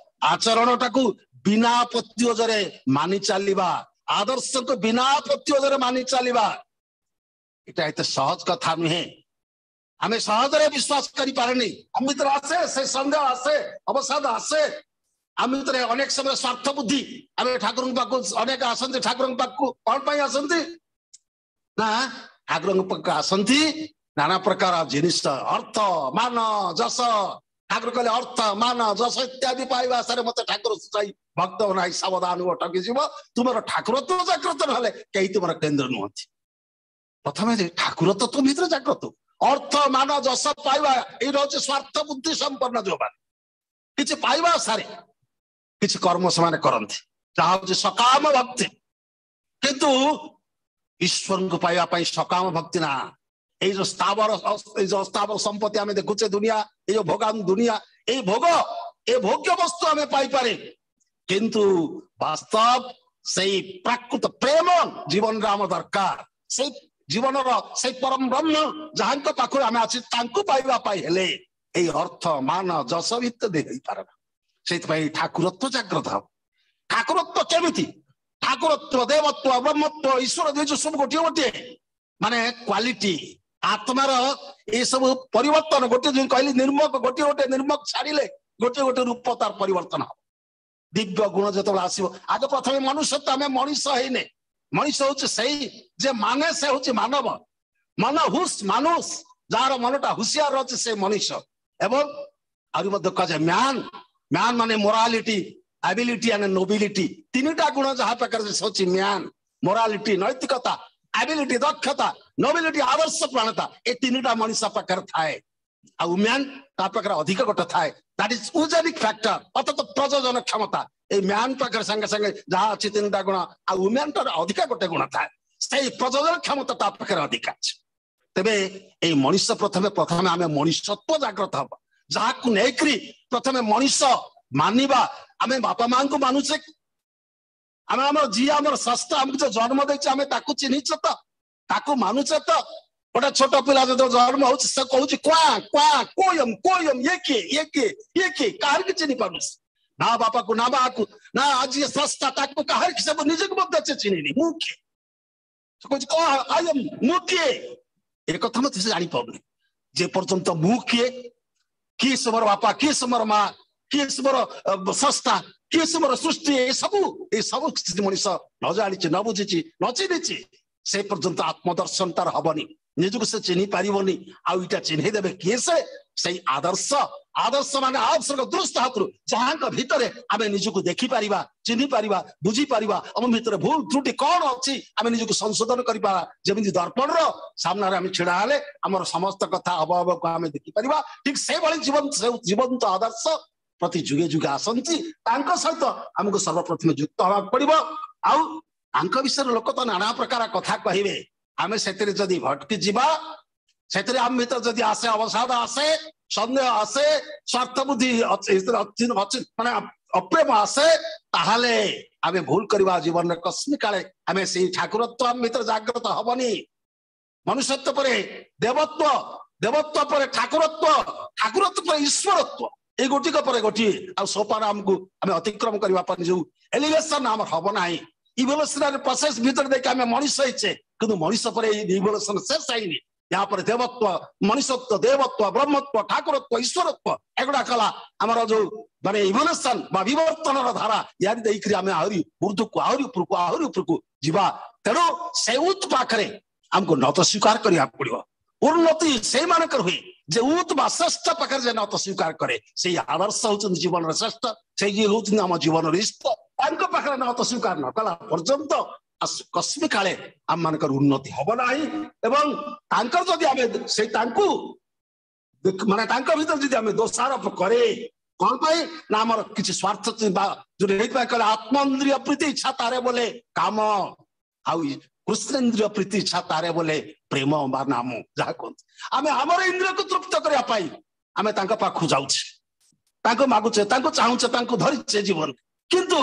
ଆଚରଣଟାକୁ ବିନା ପ୍ରତ୍ୟୁଜରେ ମାନି ଚାଲିବା, ଆଦର୍ଶକୁ ବିନା ପ୍ରତ୍ୟୁଜରେ ମାନି ଚାଲିବା, ଏଇଟା ଏତେ ସହଜ କଥା ନୁହେଁ। ଆମେ ସହଜରେ ବିଶ୍ୱାସ କରିପାରେନି। ଆମ ଭିତରେ ଆସେ ସେ ସନ୍ଦେହ, ଆସେ ଅବସାଦ, ଆସେ ଆମ ଭିତରେ ଅନେକ ସମୟରେ ସ୍ୱାର୍ଥ ବୁଦ୍ଧି। ଆମେ ଠାକୁରଙ୍କ ପାଖକୁ ଅନେକ ଆସନ୍ତି, ଠାକୁରଙ୍କ ପାଖକୁ କଣ ପାଇଁ ଆସନ୍ତି? ନା ଠାକୁରଙ୍କ ପାଖକୁ ଆସନ୍ତି ନାନା ପ୍ରକାର ଜିନିଷ, ଅର୍ଥ, ମାନ, ଯଶ। ଠାକୁର କହିଲେ ଅର୍ଥ, ମାନ, ଯଶ ଇତ୍ୟାଦି ପାଇବା ଆଶାରେ ମତେ ଠାକୁର ସୂଚାଇ ଭକ୍ତ ନାହିଁ, ସାବଧାନ ଠକିଯିବ। ତୁମର ଠାକୁରତ୍ୱ ଜାଗ୍ରତ ନହେଲେ କେହି ତୁମର କେନ୍ଦ୍ର ନୁହନ୍ତି। ପ୍ରଥମେ ଠାକୁରତ୍ୱ ତୁମ ଭିତରେ ଜାଗ୍ରତ। ଅର୍ଥ, ମାନ, ଯଶ ପାଇବା ଏଇଟା ହଉଛି ସ୍ୱାର୍ଥ ବୁଦ୍ଧି ସମ୍ପନ୍ନ। ଯୋଉମାନେ କିଛି ପାଇବା ଆଶାରେ କିଛି କର୍ମ ସେମାନେ କରନ୍ତି, ଯାହା ହଉଛି ସକାମ ଭକ୍ତି। କିନ୍ତୁ ଈଶ୍ୱରଙ୍କୁ ପାଇବା ପାଇଁ ସକାମ ଭକ୍ତି ନା। ଏଇ ଯୋଉ ସ୍ଥାବର, ଏଇ ଯୋଉ ସ୍ଥାବର ସମ୍ପତ୍ତି ଆମେ ଦେଖୁଛେ ଦୁନିଆ, ଏଇ ଯୋଉ ଭୋଗାନ ଦୁନିଆ, ଏଇ ଭୋଗ, ଏ ଭୋଗ୍ୟ ବସ୍ତୁ ଆମେ ପାଇପାରେ, କିନ୍ତୁ ବାସ୍ତବ ସେଇ ପ୍ରାକୃତ ପ୍ରେମ ଜୀବନରେ ଆମ ଦରକାର। ସେଇ ଜୀବନର ସେଇ ପରମ ବ୍ରହ୍ମ ଯାହାଙ୍କ ପାଖରୁ ଆମେ ଅଛି, ତାଙ୍କୁ ପାଇବା ପାଇଁ ହେଲେ ଏଇ ଅର୍ଥ, ମାନ, ଯଶ ଇତ୍ୟାଦି ହେଇପାରେ ନା। ସେଇଥିପାଇଁ ଠାକୁରତ୍ୱ ଜାଗ୍ରତ ହବ। ଠାକୁରତ୍ୱ କେମିତି? ଠାକୁରତ୍ୱ, ଦେବତ୍ୱ, ବ୍ରହ୍ମତ୍ୱ, ଈଶ୍ୱର ଜିନିଷ ସବୁ ଗୋଟିଏ ଗୋଟିଏ ମାନେ କ୍ୱାଲିଟି ଆତ୍ମାର ଏସବୁ ପରିବର୍ତ୍ତନ। ଗୋଟିଏ ଯୋଉ କହିଲି ନିର୍ମକ, ଗୋଟିଏ ଗୋଟିଏ ନିର୍ମକ ଛାଡିଲେ ଗୋଟିଏ ଗୋଟିଏ ରୂପ ତାର ପରିବର୍ତ୍ତନ ହବ। ଦିବ୍ୟ ଗୁଣ ଯେତେବେଳେ ଆସିବ, ଆଗ ପ୍ରଥମେ ମନୁଷ୍ୟତ୍ୱ। ଆମେ ମଣିଷ ହେଇନେ। ମଣିଷ ହଉଛି ସେଇ ଯେ ମାନେ, ସେ ହଉଛି ମାନବ। ମନ ହୁସ ମାନୁଷ, ଯାହାର ମନଟା ହୁସିଆର ଅଛି ସେ ମଣିଷ। ଏବଂ ଆହୁରି ମଧ୍ୟ କୁହାଯାଏ ମ୍ୟାନ। ମ୍ୟାନ ମାନେ ମୋରାଲିଟି, ଆବିଲିଟି ଆଣ୍ଡ ନୋବିଲିଟି, ତିନିଟା ଗୁଣ ଯାହା ପାଖରେ ସେ ହଉଛି ମ୍ୟାନ। ମୋରାଲିଟି ନୈତିକତା, ଆବିଲିଟି ଦକ୍ଷତା, ନୋବିଲିଟି ଆଦର୍ଶ ପ୍ରାଣତା, ଏ ତିନିଟା ମଣିଷ ପାଖରେ ଥାଏ। ଆଉ ମ୍ୟାନ ତା ପାଖରେ ଅଧିକ ଗୋଟେ ଥାଏ, that is ୟୁଜେନିକ ଫ୍ୟାକ୍ଟର, ଅର୍ଥାତ ପ୍ରଜନନ କ୍ଷମତା। ଏଇ ମ୍ୟାନ ପାଖରେ ସାଙ୍ଗେ ସାଙ୍ଗେ ଯାହା ଅଛି ତିନିଟା ଗୁଣ, ଆଉ ୱୁମ୍ୟାନ ଟାର ଅଧିକା ଗୋଟେ ଗୁଣ ଥାଏ, ସେଇ ପ୍ରଜନନ କ୍ଷମତା ତା ପାଖରେ ଅଧିକା ଅଛି। ତେବେ ଏଇ ମଣିଷ ପ୍ରଥମେ ପ୍ରଥମେ ଆମେ ମଣିଷତ୍ୱ ଜାଗ୍ରତ ହବ, ଯାହାକୁ ନେଇକରି ପ୍ରଥମେ ମଣିଷ ମାନିବା। ଆମେ ବାପା ମାଙ୍କୁ ମାନୁଛେ, ଆମେ ଆମର ଯିଏ ଆମର ସ୍ରଷ୍ଟା ଆମକୁ ଯୋଉ ଜନ୍ମ ଦେଇଛି ଆମେ ତାକୁ ଚିହ୍ନିଛେ ତ, ତାକୁ ମାନୁଛେ ତ। ଗୋଟେ ଛୋଟ ପିଲା ଯେତେବେଳେ ଜନ୍ମ ହଉଛି ସେ କହୁଛି କ୍ୱା କ୍ୱା କୋୟମ କୋୟମ, ଇଏ କିଏ, ଇଏ କିଏ, ଇଏ କିଏ, କାହାରି କି ଚିହ୍ନି ପାରୁନି, ନା ବାପାକୁ ନା ମାକୁ ନା ଆଜି ସ୍ରଷ୍ଟା ତାକୁ, କାହାରି ସେ ନିଜକୁ ମଧ୍ୟ ସେ ଚିହ୍ନିନି। ମୁଁ କିଏ? ସେ କହୁଛି କଣ I M, ମୁଁ କିଏ, ଏ କଥା ମଧ୍ୟ ସେ ଜାଣିପାରୁନି। ଯେ ପର୍ଯ୍ୟନ୍ତ ମୁଁ କିଏ, କିଏ ସେ ମୋର ବାପା, କିଏ ସେ ମୋର ମା, କିଏ ସେ ମୋର ସ୍ରଷ୍ଟା, କିଏ ସେ ମୋର ସୃଷ୍ଟି, ଏ ସବୁ ଏ ସବୁ କିଛି ମଣିଷ ନ ଜାଣିଛି, ନ ବୁଝିଛି, ନ ଚିହ୍ନିଛି, ସେ ପର୍ଯ୍ୟନ୍ତ ଆତ୍ମଦର୍ଶନ ତାର ହବନି, ନିଜକୁ ସେ ଚିହ୍ନି ପାରିବନି। ଆଉ ଏଇଟା ଚିହ୍ନେଇ ଦେବେ କିଏ? ସେ ସେଇ ଆଦର୍ଶ। ଆଦର୍ଶ ମାନେ ଆଦର୍ଶଙ୍କ ଦୃଷ୍ଟ ହାତରୁ ଯାହାଙ୍କ ଭିତରେ ଆମେ ନିଜକୁ ଦେଖିପାରିବା, ଚିହ୍ନି ପାରିବା, ବୁଝିପାରିବା, ଆମ ଭିତରେ ଭୁଲ ତ୍ରୁଟି କଣ ଅଛି ଆମେ ନିଜକୁ ସଂଶୋଧନ କରିପାରିବା। ଯେମିତି ଦର୍ପଣର ସାମ୍ନାରେ ଆମେ ଛିଡା ହେଲେ ଆମର ସମସ୍ତ କଥା ଅବୟବକୁ ଆମେ ଦେଖିପାରିବା, ଠିକ ସେଇଭଳି ଜୀବନ୍ତ ଜୀବନ୍ତ ଆଦର୍ଶ ପ୍ରତି ଯୁଗେ ଯୁଗେ ଆସନ୍ତି। ତାଙ୍କ ସହିତ ଆମକୁ ସର୍ବପ୍ରଥମେ ଯୁକ୍ତ ହବାକୁ ପଡିବ। ଆଉ ତାଙ୍କ ବିଷୟରେ ଲୋକ ତ ନାନା ପ୍ରକାର କଥା କହିବେ, ଆମେ ସେଥିରେ ଯଦି ଭଟକି ଯିବା, ସେଥିରେ ଆମ ଭିତରେ ଯଦି ଆସେ ଅବସାଦ, ଆସେ ସନ୍ଦେହ, ଆସେ ସ୍ୱାର୍ଥ ବୁଦ୍ଧି, ମାନେ ଅପ୍ରେମ ଆସେ, ତାହେଲେ ଆମେ ଭୁଲ କରିବା ଜୀବନରେ। କସ୍ମି କାଳେ ଆମେ ସେଇ ଠାକୁରତ୍ୱ ଆମ ଭିତରେ ଜାଗ୍ରତ ହବନି। ମନୁଷ୍ୟତ୍ୱ ପରେ ଦେବତ୍ୱ, ଦେବତ୍ୱ ପରେ ଠାକୁରତ୍ୱ, ଠାକୁରତ୍ୱ ପରେ ଈଶ୍ୱରତ୍ୱ, ଏଇ ଗୋଟିକ ପରେ ଗୋଟିଏ ଆଉ ସୋପାନ ଆମକୁ ଆମେ ଅତିକ୍ରମ କରିବା ପାଇଁ ଯୋଉ ଏଲିଭେସନ ଆମର ହବ ନାହିଁ। ଇଭଲ୍ୟୁସନାରୀ ପ୍ରୋସେସ ଭିତରେ ଦେଇକି ଆମେ ମଣିଷ ହେଇଛେ, କିନ୍ତୁ ମଣିଷ ପରେ ଏଇ ଇଭଲ୍ୟୁସନ ଶେଷ ହେଇନି। ୟାପରେ ଦେବତ୍ୱ, ମଣିଷତ୍ୱ, ଦେବତ୍ୱ, ବ୍ରହ୍ମତ୍ୱ, ଠାକୁରତ୍ୱ, ଈଶ୍ୱରତ୍ୱ, ଏଗୁଡା କଲା ଆମର ଯୋଉ ମାନେ ଇଭଲ୍ୟୁସନ ବା ବିବର୍ତ୍ତନର ଧାରା, ୟାରି ଦେଇକରି ଆମେ ଆହୁରି ଉର୍ଦ୍ଧକୁ, ଆହୁରି ଉପରକୁ, ଆହୁରି ଉପରକୁ ଯିବା। ତେଣୁ ସେ ଉତ୍ ପାଖରେ ଆମକୁ ନତ ସ୍ୱୀକାର କରିବାକୁ ପଡିବ। ଉନ୍ନତି ସେଇମାନଙ୍କର ହୁଏ ଯେ ଉତ୍ ବା ଶ୍ରେଷ୍ଠ ପାଖରେ ଯେ ନତ ସ୍ୱୀକାର କରେ। ସେଇ ଆଦର୍ଶ ହଉଛନ୍ତି ଜୀବନର ଶ୍ରେଷ୍ଠ, ସେଇ ଯିଏ ହଉଛନ୍ତି ଆମ ଜୀବନର ଇଷ୍ଟ, ତାଙ୍କ ପାଖରେ ନତ ସ୍ୱୀକାର ନ କଲା ପର୍ଯ୍ୟନ୍ତ କସ୍ମି କାଳେ ଆମ ମାନଙ୍କର ଉନ୍ନତି ହବ ନାହିଁ। ଏବଂ ତାଙ୍କର ଯଦି ଆମେ ସେଇ ତାଙ୍କୁ ମାନେ ତାଙ୍କ ଭିତରେ ଯଦି ଆମେ ଦୋଷାରୋପ କରେ, କଣ ପାଇଁ ନା ଆମର କିଛି ସ୍ୱାର୍ଥ ବା ଯୋଉଟା ହେଇଥିପାଇଁ କହିଲେ ଆତ୍ମଇନ୍ଦ୍ରିୟ ପ୍ରୀତି ଇଚ୍ଛା ତାରେ ବୋଲେ କାମ, ଆଉ କୃଷ୍ଣେନ୍ଦ୍ରିୟ ପ୍ରୀତି ଇଚ୍ଛା ତାରେ ବୋଲେ ପ୍ରେମ ବା ନାମ। ଯାହା କୁହନ୍ତି ଆମେ ଆମର ଇନ୍ଦ୍ରିୟକୁ ତୃପ୍ତ କରିବା ପାଇଁ ଆମେ ତାଙ୍କ ପାଖକୁ ଯାଉଛେ, ତାଙ୍କୁ ମାଗୁଛେ, ତାଙ୍କୁ ଚାହୁଁଛେ, ତାଙ୍କୁ ଧରିଛେ ଜୀବନ। କିନ୍ତୁ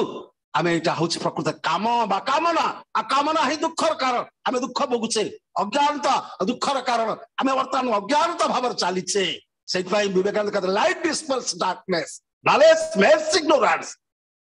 ଆମେ ଏଇଟା ହଉଛି ପ୍ରକୃତ କାମ ବା କାମନା। ଆଉ କାମନା ହିଁ ଦୁଃଖର କାରଣ। ଆମେ ଦୁଃଖ ଭୋଗୁଛେ, ଅଜ୍ଞାନତା ଦୁଃଖର କାରଣ। ଆମେ ବର୍ତ୍ତମାନ ଅଜ୍ଞାନତା ଭାବରେ ଚାଲିଛେ। ସେଇଥିପାଇଁ ବିବେକାନନ୍ଦ କହିଲେ light dispels darkness, knowledge makes ignorance.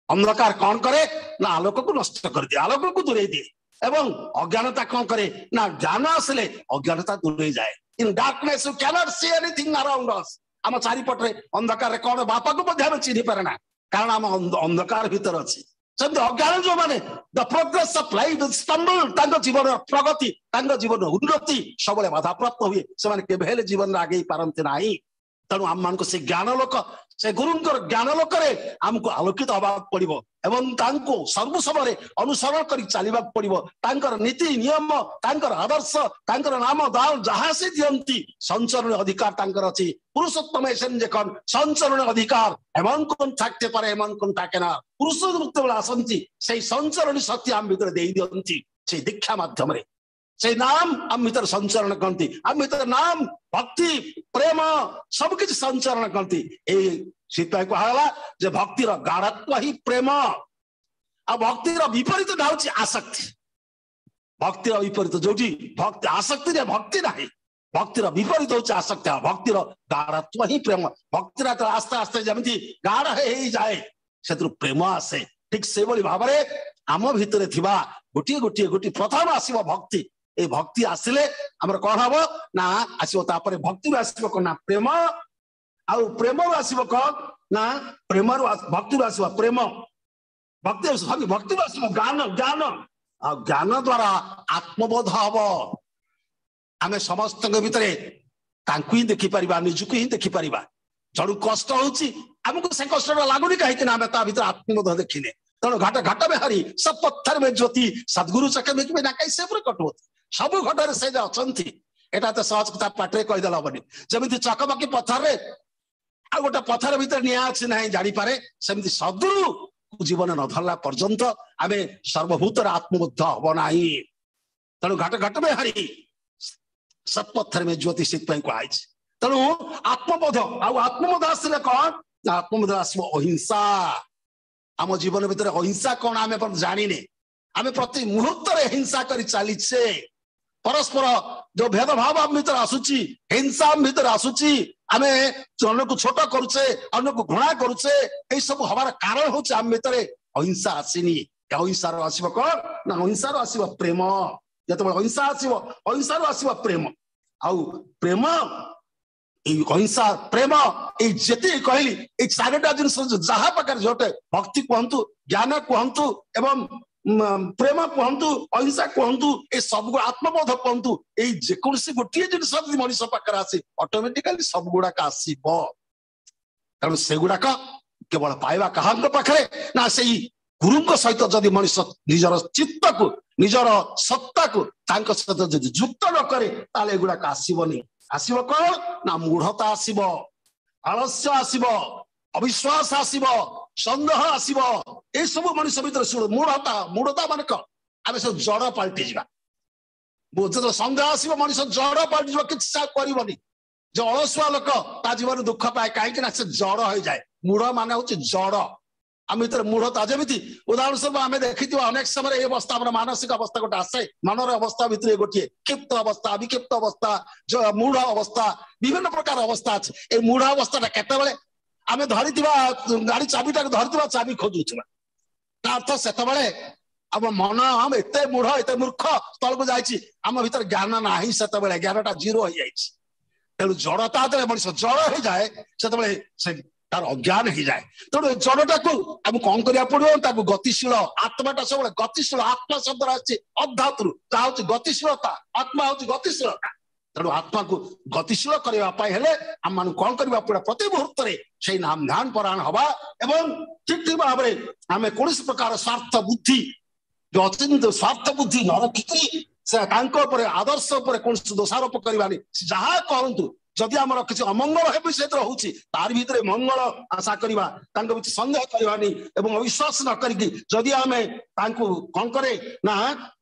ଅନ୍ଧକାର କଣ କରେ ନା ଆଲୋକକୁ ନଷ୍ଟ କରିଦିଏ, ଆଲୋକକୁ ଦୂରେଇ ଦିଏ। ଏବଂ ଅଜ୍ଞାନତା କଣ କରେ ନା ଜ୍ଞାନ ଆସିଲେ ଅଜ୍ଞାନତା ଦୂରେଇ ଯାଏ। In darkness you can't see anything around us. ଆମ ଚାରିପଟରେ ଅନ୍ଧକାରରେ କଣ ବାପାକୁ ମଧ୍ୟ ଆମେ ଚିହ୍ନି ପାରେ ନା, କାରଣ ଆମ ଅନ୍ଧକାର ଭିତରେ ଅଛି। ସେମିତି ଅଜ୍ଞାନ ଯୋଉମାନେ the progress of life stumble, ତାଙ୍କ ଜୀବନର ପ୍ରଗତି, ତାଙ୍କ ଜୀବନର ଉନ୍ନତି ସବୁବେଳେ ବାଧାପ୍ରାପ୍ତ ହୁଏ। ସେମାନେ କେବେ ହେଲେ ଜୀବନରେ ଆଗେଇ ପାରନ୍ତି ନାହିଁ। ତେଣୁ ଆମମାନଙ୍କୁ ସେ ଜ୍ଞାନ ଲୋକ, ସେ ଗୁରୁଙ୍କର ଜ୍ଞାନ ଲୋକରେ ଆମକୁ ଆଲୋକିତ ହବାକୁ ପଡିବ ଏବଂ ତାଙ୍କୁ ସବୁ ସମୟରେ ଅନୁସରଣ କରି ଚାଲିବାକୁ ପଡିବ। ତାଙ୍କର ନୀତି ନିୟମ, ତାଙ୍କର ଆଦର୍ଶ, ତାଙ୍କର ନାମ ଦାନ ଯାହା ସେ ଦିଅନ୍ତି, ସଞ୍ଚରଣ ଅଧିକାର ତାଙ୍କର ଅଛି। পুরুষোত্তম এসেন যখন সঞ্চরণ ଅଧିକାର এমন কোন থাকতে পারে এমন কোন থাকে না। ପୁରୁଷୋତ୍ତମ ଯେତେବେଳେ ଆସନ୍ତି ସେଇ ସଞ୍ଚରଣୀ ଶକ୍ତି ଆମ ଭିତରେ ଦେଇ ଦିଅନ୍ତି ସେଇ ଦୀକ୍ଷା ମାଧ୍ୟମରେ। ସେଇ ନାମ ଆମ ଭିତରେ ସଞ୍ଚରଣ କରନ୍ତି, ଆମ ଭିତରେ ନାମ, ଭକ୍ତି, ପ୍ରେମ ସବୁ କିଛି ସଞ୍ଚରଣ କରନ୍ତି। ଏଇ ସେଥିପାଇଁ କୁହାଗଲା ଯେ ଭକ୍ତିର ଗାଢ଼ତ୍ୱ ହିଁ ପ୍ରେମ, ଆଉ ଭକ୍ତିର ବିପରୀତ ହଉଛି ଆସକ୍ତି। ଭକ୍ତିର ବିପରୀତ ଯୋଉଠି ଭକ୍ତି, ଆସକ୍ତିରେ ଭକ୍ତି ନାହିଁ, ଭକ୍ତିର ବିପରୀତ ହଉଛି ଆସକ୍ତି। ଆଉ ଭକ୍ତିର ଗାଢ଼ତ୍ୱ ହିଁ ପ୍ରେମ। ଭକ୍ତିର ଆସ୍ତେ ଆସ୍ତେ ଯେମିତି ଗାଢ଼ ହେଇଯାଏ ସେଥିରୁ ପ୍ରେମ ଆସେ। ଠିକ ସେଇଭଳି ଭାବରେ ଆମ ଭିତରେ ଥିବା ଗୋଟିଏ ଗୋଟିଏ ଗୋଟିଏ ପ୍ରଥମ ଆସିବ ଭକ୍ତି। ଏଇ ଭକ୍ତି ଆସିଲେ ଆମର କଣ ହବ ନା ଆସିବ, ତାପରେ ଭକ୍ତିରୁ ଆସିବ କଣ ନା ପ୍ରେମ, ଆଉ ପ୍ରେମରୁ ଆସିବ କଣ ନା ପ୍ରେମରୁ ଭକ୍ତିରୁ ଆସିବ ପ୍ରେମ, ଭକ୍ତି ସରି ଭକ୍ତିରୁ ଆସିବ ଜ୍ଞାନ, ଜ୍ଞାନ, ଆଉ ଜ୍ଞାନ ଦ୍ଵାରା ଆତ୍ମବୋଧ ହବ। ଆମେ ସମସ୍ତଙ୍କ ଭିତରେ ତାଙ୍କୁ ହିଁ ଦେଖିପାରିବା, ନିଜକୁ ହିଁ ଦେଖିପାରିବା। ଜଣକୁ କଷ୍ଟ ହଉଛି, ଆମକୁ ସେ କଷ୍ଟଟା ଲାଗୁନି, କାହିଁକି ନା ଆମେ ତା ଭିତରେ ଆତ୍ମବୋଧ ଦେଖିନେ। ତେଣୁ ଘାଟ ଘାଟ ମେ ହରି ସବ ପଥର ମେ ଜ୍ୟୋତି ସଦଗୁରୁ ଚକେ ମେ ନା କାଇଁ ସେ ପ୍ରକଟ ହୋତି। ସବୁ ଘଟରେ ସେ ଯେ ଅଛନ୍ତି, ଏଇଟା ତ ସହଜ କଥା ପାଟିରେ କହିଦେଲେ ହବନି। ଯେମିତି ଚକମକି ପଥରରେ ଆଉ ଗୋଟେ ପଥର ଭିତରେ ନିଆଁ ଅଛି ନାହିଁ ଜାଣିପାରେ, ସେମିତି ସଦଗୁରୁ ଜୀବନ ନ ଧରିଲା ପର୍ଯ୍ୟନ୍ତ ଆମେ ସର୍ବଭୂତରେ ଆତ୍ମବୋଧ ହବ ନାହିଁ। ତେଣୁ ଘାଟ ଘାଟ ମେ ହରି ସବ ପଥର ମେ ଜ୍ୟୋତି ସେଥିପାଇଁ କୁହାଯାଇଛି। ତେଣୁ ଆତ୍ମବୋଧ, ଆଉ ଆତ୍ମବୋଧ ଆସିଲେ କଣ ନା ଆତ୍ମବୋଧ ଆସିବ ଅହିଂସା। ଆମ ଜୀବନ ଭିତରେ ଅହିଂସା କଣ ଆମେ ଜାଣିନେ। ଆମେ ପ୍ରତି ମୁହୂର୍ତ୍ତରେ ହିଂସା କରି ଚାଲିଛେ। ପରସ୍ପର ଯୋଉ ଭେଦଭାବ ଆମ ଭିତରେ ଆସୁଛି, ହିଂସା ଆମ ଭିତରେ ଆସୁଛି, ଆମେ ଅନ୍ୟକୁ ଛୋଟ କରୁଛେ, ଅନ୍ୟକୁ ଘୃଣା କରୁଛେ। ଏଇ ସବୁ ହବାର କାରଣ ହଉଛି ଆମ ଭିତରେ ଅହିଂସା ଆସିନି। ଅହିଂସାର ଆସିବ କଣ ନା ଅହିଂସାରୁ ଆସିବ ପ୍ରେମ। ଯେତେବେଳେ ଅହିଂସା ଆସିବ, ଅହିଂସାରୁ ଆସିବ ପ୍ରେମ। ଆଉ ପ୍ରେମ, ଏଇ ଅହିଂସା, ପ୍ରେମ, ଏଇ ଯେତିକି କହିଲି ଏଇ ଚାରିଟା ଜିନିଷ ଯାହା ପାଖରେ ଯୋଉଟେ ଭକ୍ତି କୁହନ୍ତୁ, ଜ୍ଞାନ କୁହନ୍ତୁ, ଏବଂ ପ୍ରେମ କୁହନ୍ତୁ, ଅହିଂସା କୁହନ୍ତୁ, ଏ ସବୁ ଆତ୍ମବୋଧ କୁହନ୍ତୁ, ଏଇ ଯେକୌଣସି ଗୋଟିଏ ଜିନିଷ ଯଦି ମଣିଷ ପାଖରେ ଆସେ ଅଟୋମେଟିକାଲି ସବୁ ଗୁଡାକ ଆସିବ। ତେଣୁ ସେଗୁଡାକ କେବଳ ପାଇବା କାହାଙ୍କ ପାଖରେ ନା ସେଇ ଗୁରୁଙ୍କ ସହିତ ଯଦି ମଣିଷ ନିଜର ଚିତ୍ତକୁ, ନିଜର ସତ୍ତାକୁ ତାଙ୍କ ସହିତ ଯଦି ଯୁକ୍ତ ନ କରେ ତାହେଲେ ଏଗୁଡାକ ଆସିବନି। ଆସିବ କଣ ନା ମୂଢତା ଆସିବ, ଆଳସ୍ୟ ଆସିବ, ଅବିଶ୍ୱାସ ଆସିବ, ସନ୍ଦେହ ଆସିବ। ଏସବୁ ମଣିଷ ଭିତରେ ମୂଢତା। ମୂଢତା ମାନେ କଣ? ଆମେ ସବୁ ଜଡ ପାଲଟି ଯିବା। ଯେତେବେଳେ ସନ୍ଦେହ ଆସିବ ମଣିଷ ଜଡ ପାଲଟିଯିବ, କିଛି କରିବନି। ଯେ ଅଳସୁଆ ଲୋକ ତା ଜୀବନରେ ଦୁଃଖ ପାଏ, କାହିଁକି ନା ସେ ଜଡ ହେଇଯାଏ। ମୂଢ ମାନେ ହଉଛି ଜଡ। ଆମ ଭିତରେ ମୂଢତା, ଯେମିତି ଉଦାହରଣ ସ୍ୱରୂପ ଆମେ ଦେଖିଥିବା ଅନେକ ସମୟରେ ଏଇ ଅବସ୍ଥା, ଆମର ମାନସିକ ଅବସ୍ଥା ଗୋଟେ ଆସେ। ମନର ଅବସ୍ଥା ଭିତରେ ଗୋଟିଏ କ୍ଷିପ୍ତ ଅବସ୍ଥା, ବିକ୍ଷିପ୍ତ ଅବସ୍ଥା, ମୂଢ ଅବସ୍ଥା, ବିଭିନ୍ନ ପ୍ରକାର ଅବସ୍ଥା ଅଛି। ଏଇ ମୂଢ ଅବସ୍ଥାଟା କେତେବେଳେ ଆମେ ଧରିଥିବା ଗାଡି ଚାବିଟାକୁ ଧରିଥିବା, ଚାବି ଖୋଜୁଥିବା, ତା ଅର୍ଥ ସେତେବେଳେ ଆମ ମନ ଆମ ଏତେ ମୂଢ, ଏତେ ମୂର୍ଖ ସ୍ଥଳକୁ ଯାଇଛି, ଆମ ଭିତରେ ଜ୍ଞାନ ନାହିଁ। ସେତେବେଳେ ଜ୍ଞାନଟା ଜିରୋ ହେଇଯାଇଛି। ତେଣୁ ଜଡତା ଯେତେବେଳେ ମଣିଷ ଜଡ ହେଇଯାଏ ସେତେବେଳେ ସେ ତାର ଅଜ୍ଞାନ ହେଇଯାଏ। ତେଣୁ ଏ ଜଡଟାକୁ ଆମକୁ କଣ କରିବାକୁ ପଡିବ? ତାକୁ ଗତିଶୀଳ, ଆତ୍ମାଟା ସବୁବେଳେ ଗତିଶୀଳ। ଆତ୍ମା ଶବ୍ଦରେ ଆସିଛି ଅଧ୍ୟାତ୍ମରୁ, ତାହା ହଉଛି ଗତିଶୀଳତା। ଆତ୍ମା ହଉଛି ଗତିଶୀଳତା। ତେଣୁ ଆତ୍ମାକୁ ଗତିଶୀଳ କରିବା ପାଇଁ ହେଲେ ଆମମାନଙ୍କୁ କଣ କରିବାକୁ ପଡିବ? ପ୍ରତି ମୁହୂର୍ତ୍ତରେ ସେଇ ନାମ ଧ୍ୟାନ ପରାୟଣ ହବା ଏବଂ ଠିକ ଠିକ ଭାବରେ ଆମେ କୌଣସି ପ୍ରକାର ସ୍ୱାର୍ଥ ବୁଦ୍ଧି, ଯୋଉ ଅଚିନ୍ତ ସ୍ୱାର୍ଥ ବୁଦ୍ଧି ନ ରଖିକି ସେ ତାଙ୍କ ଉପରେ, ଆଦର୍ଶ ଉପରେ କୌଣସି ଦୋଷାରୋପ କରିବାନି। ସେ ଯାହା କରନ୍ତୁ ଯଦି ଆମର କିଛି ଅମଙ୍ଗଳ ହେବେ ସେଥିରେ ହଉଛି, ତାର ଭିତରେ ମଙ୍ଗଳ ଆଶା କରିବା, ତାଙ୍କ ଭିତରେ ସନ୍ଦେହ କରିବାନି ଏବଂ ଅବିଶ୍ୱାସ ନ କରିକି ଯଦି ଆମେ ତାଙ୍କୁ କଣ କରେ ନା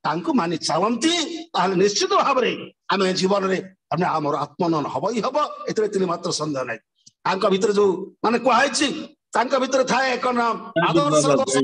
ତାଙ୍କୁ ମାନି ଚାଲନ୍ତି, ତାହେଲେ ନିଶ୍ଚିତ ଭାବରେ ଆମେ ଜୀବନରେ ଆମେ ଆମର ଆତ୍ମନନ ହବ ହିଁ ହବ, ଏଥିରେ ତିନି ମାତ୍ର ସନ୍ଦେହ ନାହିଁ। ତାଙ୍କ ଭିତରେ ଯୋଉ ମାନେ କୁହାହେଇଛି, ତାଙ୍କ ଭିତରେ ଥାଏ ଏକ ନାମ ଆଦର୍ଶ ଦୋଷ,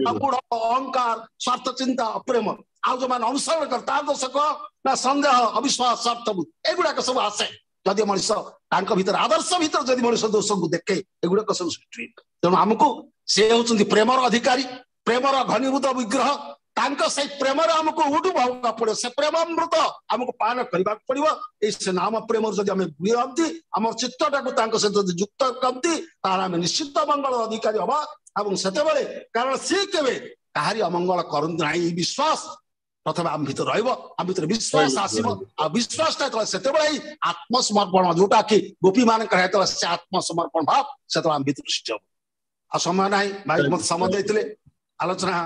ଅହଙ୍କାର, ସ୍ୱାର୍ଥ ଚିନ୍ତା, ଅପ୍ରେମ। ଆଉ ଯୋଉମାନେ ଅନୁସରଣ କରେ ତାର ଦୋଷ କଣ ନା ସନ୍ଦେହ, ଅବିଶ୍ୱାସ, ସ୍ୱାର୍ଥ, ଏଗୁଡାକ ସବୁ ଆସେ। ଯଦି ମଣିଷ ତାଙ୍କ ଭିତରେ ଆଦର୍ଶ ଭିତରେ ଯଦି ମଣିଷ ଦୋଷକୁ ଦେଖେ, ଏଗୁଡାକ ସବୁ ସୃଷ୍ଟି ହୁଏ। ତେଣୁ ଆମକୁ ସେ ହଉଛନ୍ତି ପ୍ରେମର ଅଧିକାରୀ, ପ୍ରେମର ଘନୀଭୂତ ବିଗ୍ରହ। ତାଙ୍କ ସେଇ ପ୍ରେମରେ ଆମକୁ ଉଡୁବ ହେବାକୁ ପଡିବ, ସେ ପ୍ରେମ ଅମୃତ ଆମକୁ ପାନ କରିବାକୁ ପଡିବ। ଏଇ ସେ ନାମ ପ୍ରେମରୁ ଯଦି ଆମେ ବୁଝନ୍ତି, ଆମର ଚିତ୍ତଟାକୁ ତାଙ୍କ ସହିତ ଯଦି ଯୁକ୍ତ କରନ୍ତି, ତାହେଲେ ଆମେ ନିଶ୍ଚିତ ମଙ୍ଗଳ ଅଧିକାରୀ ହବା। ଏବଂ ସେତେବେଳେ କାରଣ ସିଏ କେବେ କାହାରି ଅମଙ୍ଗଳ କରନ୍ତି ନାହିଁ, ଏଇ ବିଶ୍ୱାସ ପ୍ରଥମେ ଆମ ଭିତରେ ରହିବ, ଆମ ଭିତରେ ବିଶ୍ୱାସ ଆସିବ। ଆଉ ବିଶ୍ୱାସଟା ଯେତେବେଳେ ସେତେବେଳେ ହିଁ ଆତ୍ମସମର୍ପଣ, ଯୋଉଟା କି ଗୋପୀ ମାନଙ୍କର ଯେତେବେଳେ ସେ ଆତ୍ମସମର୍ପଣ ଭାବ ସେତେବେଳେ ଆମ ଭିତରେ ସୃଷ୍ଟି ହବ। ଆଉ ସମୟ ନାହିଁ ଭାଇ, ମତେ ସମୟ ଦେଇଥିଲେ, ଆଲୋଚନା